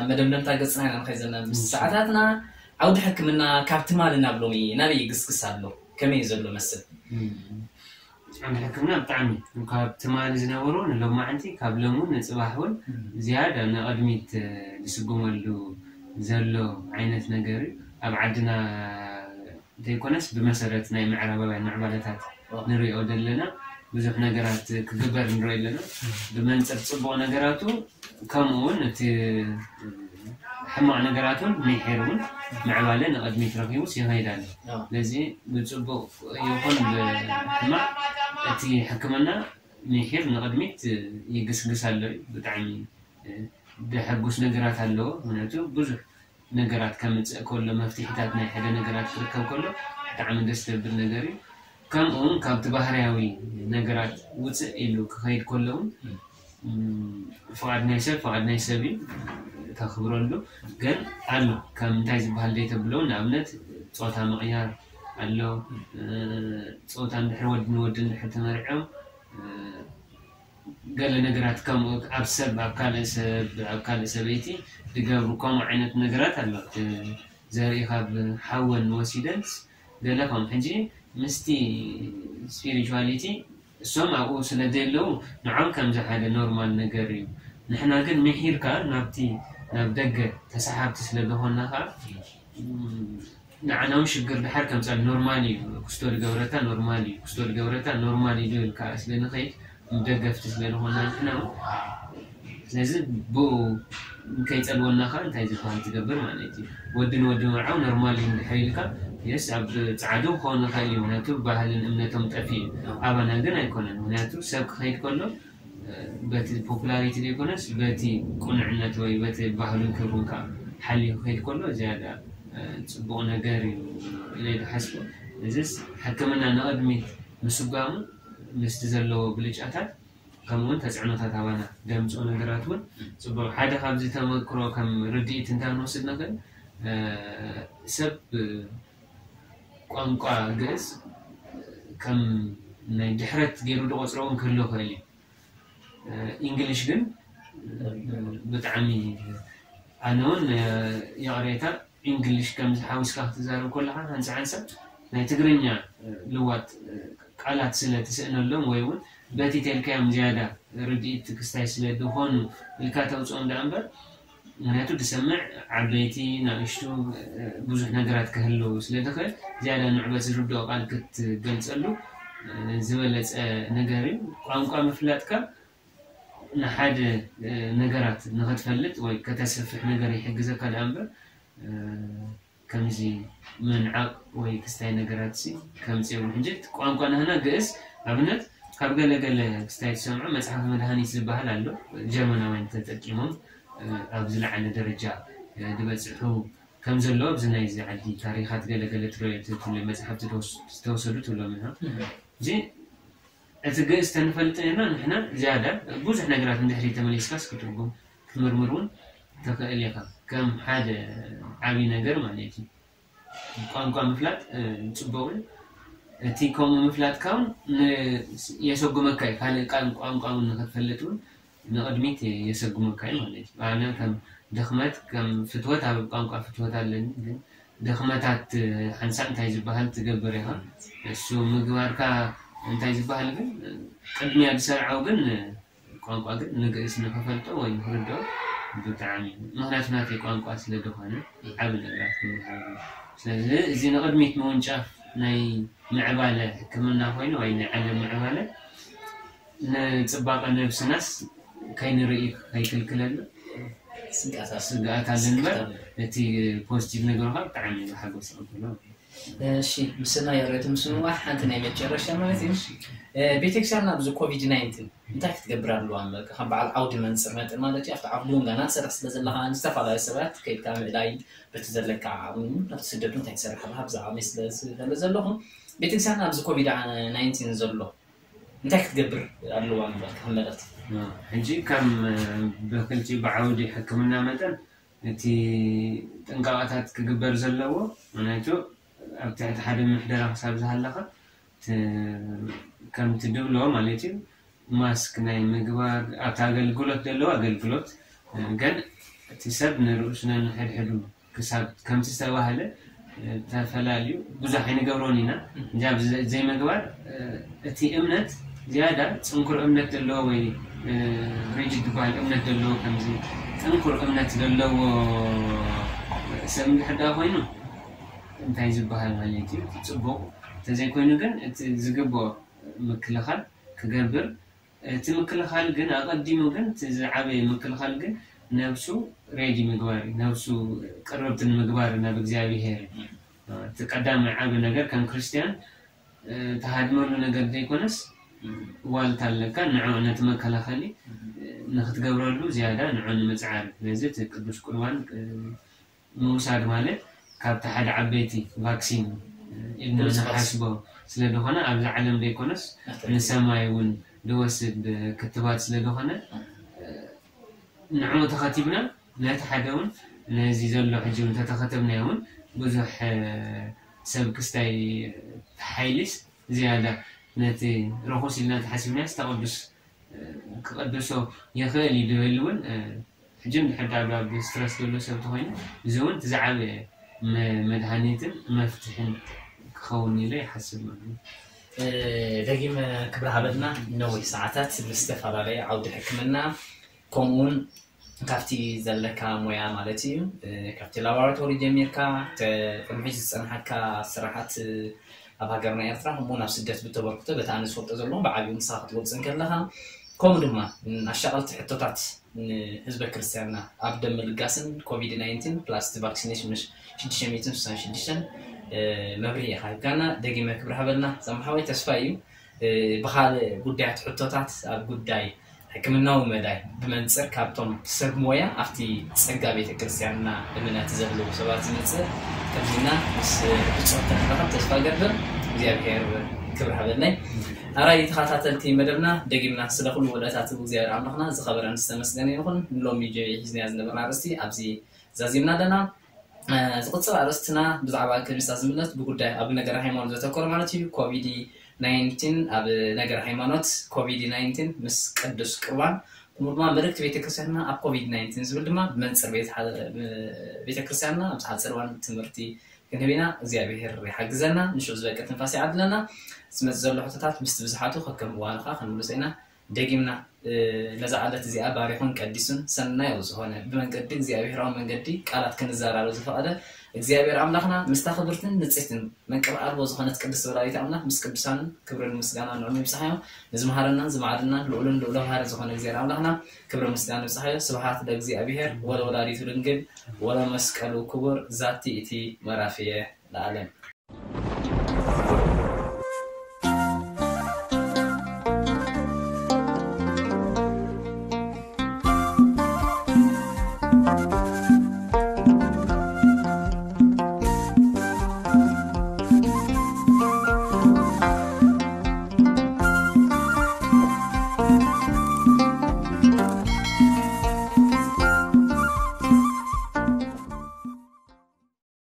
መደምደምታ ገፅና ኢና ንኸይድ ዘለና ምስ ሰዓታትና ዓውዲ ሕክምና ካብ ትማሊ ናብ ሎሚ ናበይ ይግስግስ ኣሎ ከመይ እዩ ዘሎ መስል ዓውዲ ሕክምና ብጣዕሚ ካብ ትማሊ ዝነበሩ ንሎማዓንቲ ካብ ሎሚ ንፅባሕ እውን ዝያዳ ንቐድሚት ዝስጉመሉ ዘሎ ዓይነት ነገር እዩ ኣብ ዓድና ዘይኮነስ ብመሰረት ናይ ምዕራባውያን ምዕባለታት ንሪኦ ዘለና ብዙሕ ነገራት ክግበር ንሪኦ ኣለና። ብመንፅር ፅቡቕ ነገራቱ ከምኡ እውን እቲ ሕማቕ ነገራት እውን ምሒር እውን ምዕባለ ንቕድሚት ረኪቡስ ይኸይድ ኣሎ። ስለዚ ብፅቡቕ ይኹን ብሕማቕ እቲ ሕክምና ምሒር ንቕድሚት ይግስግስ ኣሎ እዩ። ብጣዕሚ ደሐጉስ ነገራት ኣለዎ። ምክንያቱ ብዙሕ ነገራት ከምፅእ ከሎ መፍትሒታት ናይ ሓደ ነገራት ክርከብ ከሎ ብጣዕሚ ደስ ዘብል ነገር እዩ። ከምኡ እውን ካብቲ ባህርያዊ ነገራት ውፅእ ኢሉ ክኸይድ ከሎ እውን ፍቓድ ናይ ሰብ ፍቓድ ናይ ሰብ እዩ ተኽብረሉ። ግን ኣሎ ከም እንታይ ዝበሃል ዘይተብሎ ንኣብነት ፆታ ምቕያር ኣሎ። ፆታ እንድሕር ወዲ ንወዲ እንድሕር ተመርዕዮም ገለ ነገራት ከምኡ ኣብ ሰብ ኣብ ካልእ ሰብ ኣብ ካልእ ሰበይቲ ዝገብሩ ከምኡ ዓይነት ነገራት ኣሎ። ዘርኢ ካብ ሓወን ወሲደንስ ገለ ከም ሕጂ ምስቲ ስፒሪቹዋሊቲ እሶም ኣብኡ ስለ ዘየለዉ ንዖም ከምዚ ሓደ ኖርማል ነገር እዩ። ንሕና ግን ምሒርካ ናብቲ ናብ ደገ ተሰሓብቲ ስለ ዝኾንና ከዓ ንዓና እውን ሽግር ድሓር ከምፃል ኖርማል እዩ። ክስቶ ዝገብረካ ኖርማል እዩ ክስቶ ዝገብረካ ኖርማል እዩ ዝብል ከዓ ስለ ንኸይድ ደገፍቲ ስለ ዝኾንና ንሕና እውን ስለዚ ብኡ ከይፀልወና ከዓ እንታይ ዝበሃል ትገብር ማለት እዩ። ወዲ ንወዲ ምርዓው ኖርማል እዩ እንድሕር ኢልካ የስ ኣብ ፃዕዱ ክኸውን ይኽእል እዩ ምክንያቱ ባህልን እምነቶም ጠፊኡ እዩ። ኣባና ግን ኣይኮነን ምክንያቱ ሰብ ክኸይድ ከሎ በቲ ፖፑላሪቲ ዘይኮነስ በቲ ቁኑዕነት ወይ በቲ ባህሉን ክብሩን ከዓ ሓልዩ ክኸይድ ከሎ ዝያዳ ጽቡቕ ነገር እዩ ኢለ ይሓስቦ። እዚስ ሕክምና ንቕድሚት ምስጓሙ ምስቲ ዘለዎ ብልጫታት ከምኡውን ተፅዕኖታት ኣባና ዘምፅኦ ነገራት እውን ጽቡቕ። ሓደ ካብዚ ተመክሮ ከም ርድኢት እንታይ ክንወስድ ንኽእል፣ ሰብ ቋንቋ ግእዝ ከም ናይ ድሕረት ገይሩ ዝቆፅሮ እውን ክህሉ ይኽእል እዩ። ኢንግሊሽ ግን ብጣዕሚ ኣነ እውን ይቕሬታ ኢንግሊሽ ከምዚ ሓዊስካ ክትዛረብ ከለኻ ሓንሳ ሓንሳ ናይ ትግርኛ ልዋጥ ቃላት ስለ ትስእነሎም ወይ እውን በቲ ተልካዮም ዝያዳ ርድኢት ክስታይ ስለ ዝኾኑ ኢልካ ተውፅኦም ደኣ እምበር ምክንያቱ ዝሰምዕ ዓበይቲ ናእሽቱ ብዙሕ ነገራት ክህልው ስለ ዝኽእል ዝያዳ ንዕበት ዝርድኦ ቃል ክትገልፀሉ ዝበለፀ ነገር እዩ። ቋንቋ ምፍላጥካ ንሓደ ነገራት ንኸትፈልጥ ወይ ከተስፍሕ ነገር ይሕግዘካ ደኣ እምበር ከምዚ ምንዓቕ ወይ ክስታይ ነገራት ሲ ከምፅኦም ሕጂ ቋንቋ ናህና ግእዝ ኣብነት ካብ ገለ ገለ ክስታይ ትሰምዖ መፅሓፍ መድሃኒት ዝበሃል ኣሎ። ጀርመናውያን ተጠቂሞም ኣብ ዝለዓለ ደረጃ ዝበፅሑ ከም ዘሎ ኣብዚ ናይዚ ዓዲ ታሪኻት ገለ ገለ ትረትለ መፅሓፍቲ ዝተወሰዱ ትብሎም ኢና። እዚ እቲ ግእዝ ተንፈልጥ ነርና ንሕና ዝያዳ ብዙሕ ነገራት ንድሕሪ ተመሊስካስ ክትርጉም ክትምርምር እውን ተኽእል ኢኻ። ከም ሓደ ዓብዪ ነገር ማለት እዩ። ቋንቋ ምፍላጥ ጽቡቕ እዩ። እቲ ከምኡ ምፍላጥካ እውን የሰጉመካ እዩ። ካልእ ቃል ቋንቋ እውን ንክትፈልጥ እውን ንቕድሚት የሰጉመካ እዩ ማለት እዩ። ኣነ ከም ድኽመት ከም ፍትወት ኣብ ቋንቋ ፍትወት ኣለኒ ግን ድኽመታት ሓንሳእ እንታይ ዝበሃል ትገብር ኢኻ። እሱ ምግባርካ እንታይ ዝበሃል ግን ቅድሚያ ዝሰርዓው ግን ቋንቋ ግን ንግእዝ ንክፈልጦ ወይ ንክርድኦ ብጣዕሚ ምክንያቱ ናተይ ቋንቋ ስለ ዝኾነ ዓብ ነገራት ክምሃር ስለዚ እዚ ንቅድሚት ምውንጫፍ ናይ ምዕባለ ሕክምና ኮይኑ ወይ ናይ ዓለም ምዕባለ ንፅባቐ ነብስናስ ከይንርኢ ከይክልክለና ስጋኣት ኣለ እምበር እቲ ፖዚቲቭ ነገርካ ብጣዕሚ ሓጎስ ኣምሎ። እሺ ምስና የረቱ ምስምዋ ሓንቲ ናይ መጨረሻ ማለት እዩ። ቤተክርስትያንና ኣብዚ ኮቪድ ናይንቲን እንታይ ክትገብር ኣለዋ? ከም በዓል ዓውዲ መንፅር መጠን ማለት እዩ ኣብቲ ዓውዲ እውን ገና ትሰርሕ ስለ ዘለካ ዝተፈላለዩ ሰባት ከይድካ ምእላይ በቲ ዘለካ ዓቕሚ ኣብቲ ስደት እንታይ ትሰርሕ ኣለካ ብዛዕባ ስለ ዝፈልጥ ዘለኹ ቤተክርስትያንና ኣብዚ ኮቪድ ናይንቲን ዘሎ እንታይ ክትገብር ኣለዋ ንበል ከም መልእኽቲ? ሕጂ ከም ብክልቲኡ ብዓውዲ ሕክምና መጠን እቲ ጥንቃቐታት ክግበር ዘለዎ ምክንያቱ ኣብ ትሕቲ ሓደ ምሕደራ ክሳብ ዝሃለኻ ከም ትድብሎ ማለት እዩ ማስክ ናይ ምግባር ኣብቲ ኣገልግሎት ዘለዎ ኣገልግሎት ግን እቲ ሰብ ንርእሱ ነንሕድሕዱ ክሳብ ከምቲ ዝተባህለ ተፈላልዩ ብዙሕ ኣይንገብሮን ኢና እንጂ ኣብዚ ዘይምግባር እቲ እምነት ዝያዳ ፅንኩር እምነት ዘለዎ ወይ ሪጅድ ዝበሃል እምነት ዘለዎ ከምዚ ጥንኩር እምነት ዘለዎ ሰብ እንድሕር ደኣ ኮይኑ እንታይ ዝበሃል ማለት እዩ ፅቡቕ እንተዘይኮይኑ ግን እቲ ዝግብኦ ምክልኻል ክገብር እቲ ምክልኻል ግን ኣቐዲሙ ግን እቲ ዝዓበየ ምክልኻል ግን ነብሱ ሬዲ ምግባር እዩ ነብሱ ቅርብቲ ንምግባር ናብ እግዚኣብሄር እዩ እቲ ቀዳማይ ዓብ ነገር ከም ክርስትያን ተሃድመሉ ነገር ዘይኮነስ ዋልታ ኣለካ ንዕኡ ነቲ መከላኸሊ ንክትገብረሉ ዝያዳ ንዑ ንምፅዓር ስለዚ እቲ ቅዱስ ቁርባን ምውሳድ ማለት ካብቲ ሓደ ዓበይቲ ቫክሲን ኢልና ንሓስቦ ስለዝኾነ ኣብዚ ዓለም ዘይኮነስ ንሰማይ እውን ዝወስድ ክትባት ስለዝኾነ ንዕኡ ተኸቲብና ነቲ ሓደ እውን ነዚ ዘሎ ሕጂ እውን ተተኸተብናዮ እውን ብዙሕ ሰብ ክስታይ ሓይሊስ ዝያዳ ነቲ ርኹስ ኢልና ተሓሲብናዮስ ተቐዱስ ክቐድሶ ይኽእል እዩ ዝብል እውን ሕጂ እንድሕር ዳኣ ኣብ ስትረስ ዘሎ ሰብ ተኮይኑ እዚ እውን እቲ ዝዓበየ መድሃኒትን መፍትሕን ክኸውን ኢለ ይሓስብ ማለት እዩ። ደጊም ክብሪ ሃበልና ነዊሕ ሰዓታት ብዝተፈላለየ ዓውዲ ሕክምና ከምኡውን ካብቲ ዘለካ ሞያ ማለት እዩ ካብቲ ላቦራቶሪ ጀሚርካ ቅድሚ ዝፀንሓካ ስራሓት ኣብ ሃገርና ኤርትራ ከምኡ ናብ ስደት ብተበርክቶ በቲ ኣነ ዝፈልጦ ዘለኹ ብዓብዩ ንስኻ ክትገልፅ እንከለኻ ከምኡ ድማ ኣሻቐልቲ ሕቶታት ንህዝበ ክርስትያንና ኣብ ደም ምልጋስን ኮቪድ ናይንቲን ፕላስ እቲ ቫክሲኔሽን ሽዱሽተ ሚእትን ስሳን ሽዱሽተን መብርሂ ኢኻ ሂብካና ደጊመ ክብሪ ሃበልና ዘምሓወይ ተስፋ እዩ ብኻልእ ጉዳያት ሕቶታት ኣብ ጉዳይ ሕክምናዊ መዳይ ብመንፅር ካብቶም ሰብ ሞያ ኣብቲ ጸጋ ቤተ ክርስቲያንና እምነት ዘለዉ ሰባት ዝመፅእ ከምዚና ምስ ብፁዕ ክንራኸብ ተስፋ ገብር። እግዚኣብሔር ክብር ሃበለይ። ኣራይ ተኸታተልቲ መደብና ደጊምና ስለ ኩሉ ውለታት እግዚኣብሔር ኣምላኽና ዝኸበረን ዝተመስገነ ይኹን። ንሎሚ ጀ- ሒዝናያ ዝነበርና ርእስቲ ኣብዚ ዛዚምና ኣለና። ዝቕፅል ኣርእስትና ብዛዕባ ክሪስታ ዝምለት ብጉዳይ ኣብ ነገር ሃይማኖት ዘተኮረ ማለት እዩ። ኮቪድ ናይንቲን ኣብ ነገር ሃይማኖት ኮቪድ ናይንቲን ምስ ቅዱስ ቅርባን ከምኡ ድማ መልእክቲ ቤተክርስትያንና ኣብ ኮቪድ ናይንቲን ዝብል ድማ ብመንፅር ቤተክርስትያንና ኣብዚ ሓፂር እዋን ትምህርቲ ክንህብ ኢና። እግዚኣብሔር ይሓግዘና። ንሽዑ ዝበቅዕ ትንፋስ ይዓድለና። ዝመፅ ዘሎ ሕቶታት ምስቲ ብዝሓቱ ከከም እዋኑ ከዓ ክንምልሶ ኢና። ደጊምና ነዛ ዕለት እዚኣ ባሪኹን ቀዲሱን ሰናይ ዝኾነ ብመንገዲ እግዚኣብሔራዊ መንገዲ ቃላት ክንዘራረብ ዝፈቐደ እግዚኣብሔር ኣምላኽና ምስታ ክብርትን ንጽሕትን መንቀብ ኣልቦ ዝኾነት ቅድስቲ ወላዲት ኣምላኽ ምስ ቅዱሳንን ክብርን ምስጋና ንዕሙ ይብጽሓዮ። ንዝመሃረናን ዝማዕድናን ልዑልን ልዑለ ባህሪ ዝኾነ እግዚኣብሔር ኣምላኽና ክብርን ምስጋና ይብጽሓዮ። ስብሓት ለእግዚኣብሔር ወለወላዲቱ ድንግል ወለመስቀሉ ክቡር ዛቲ እቲ መራፍየ ለዓለም።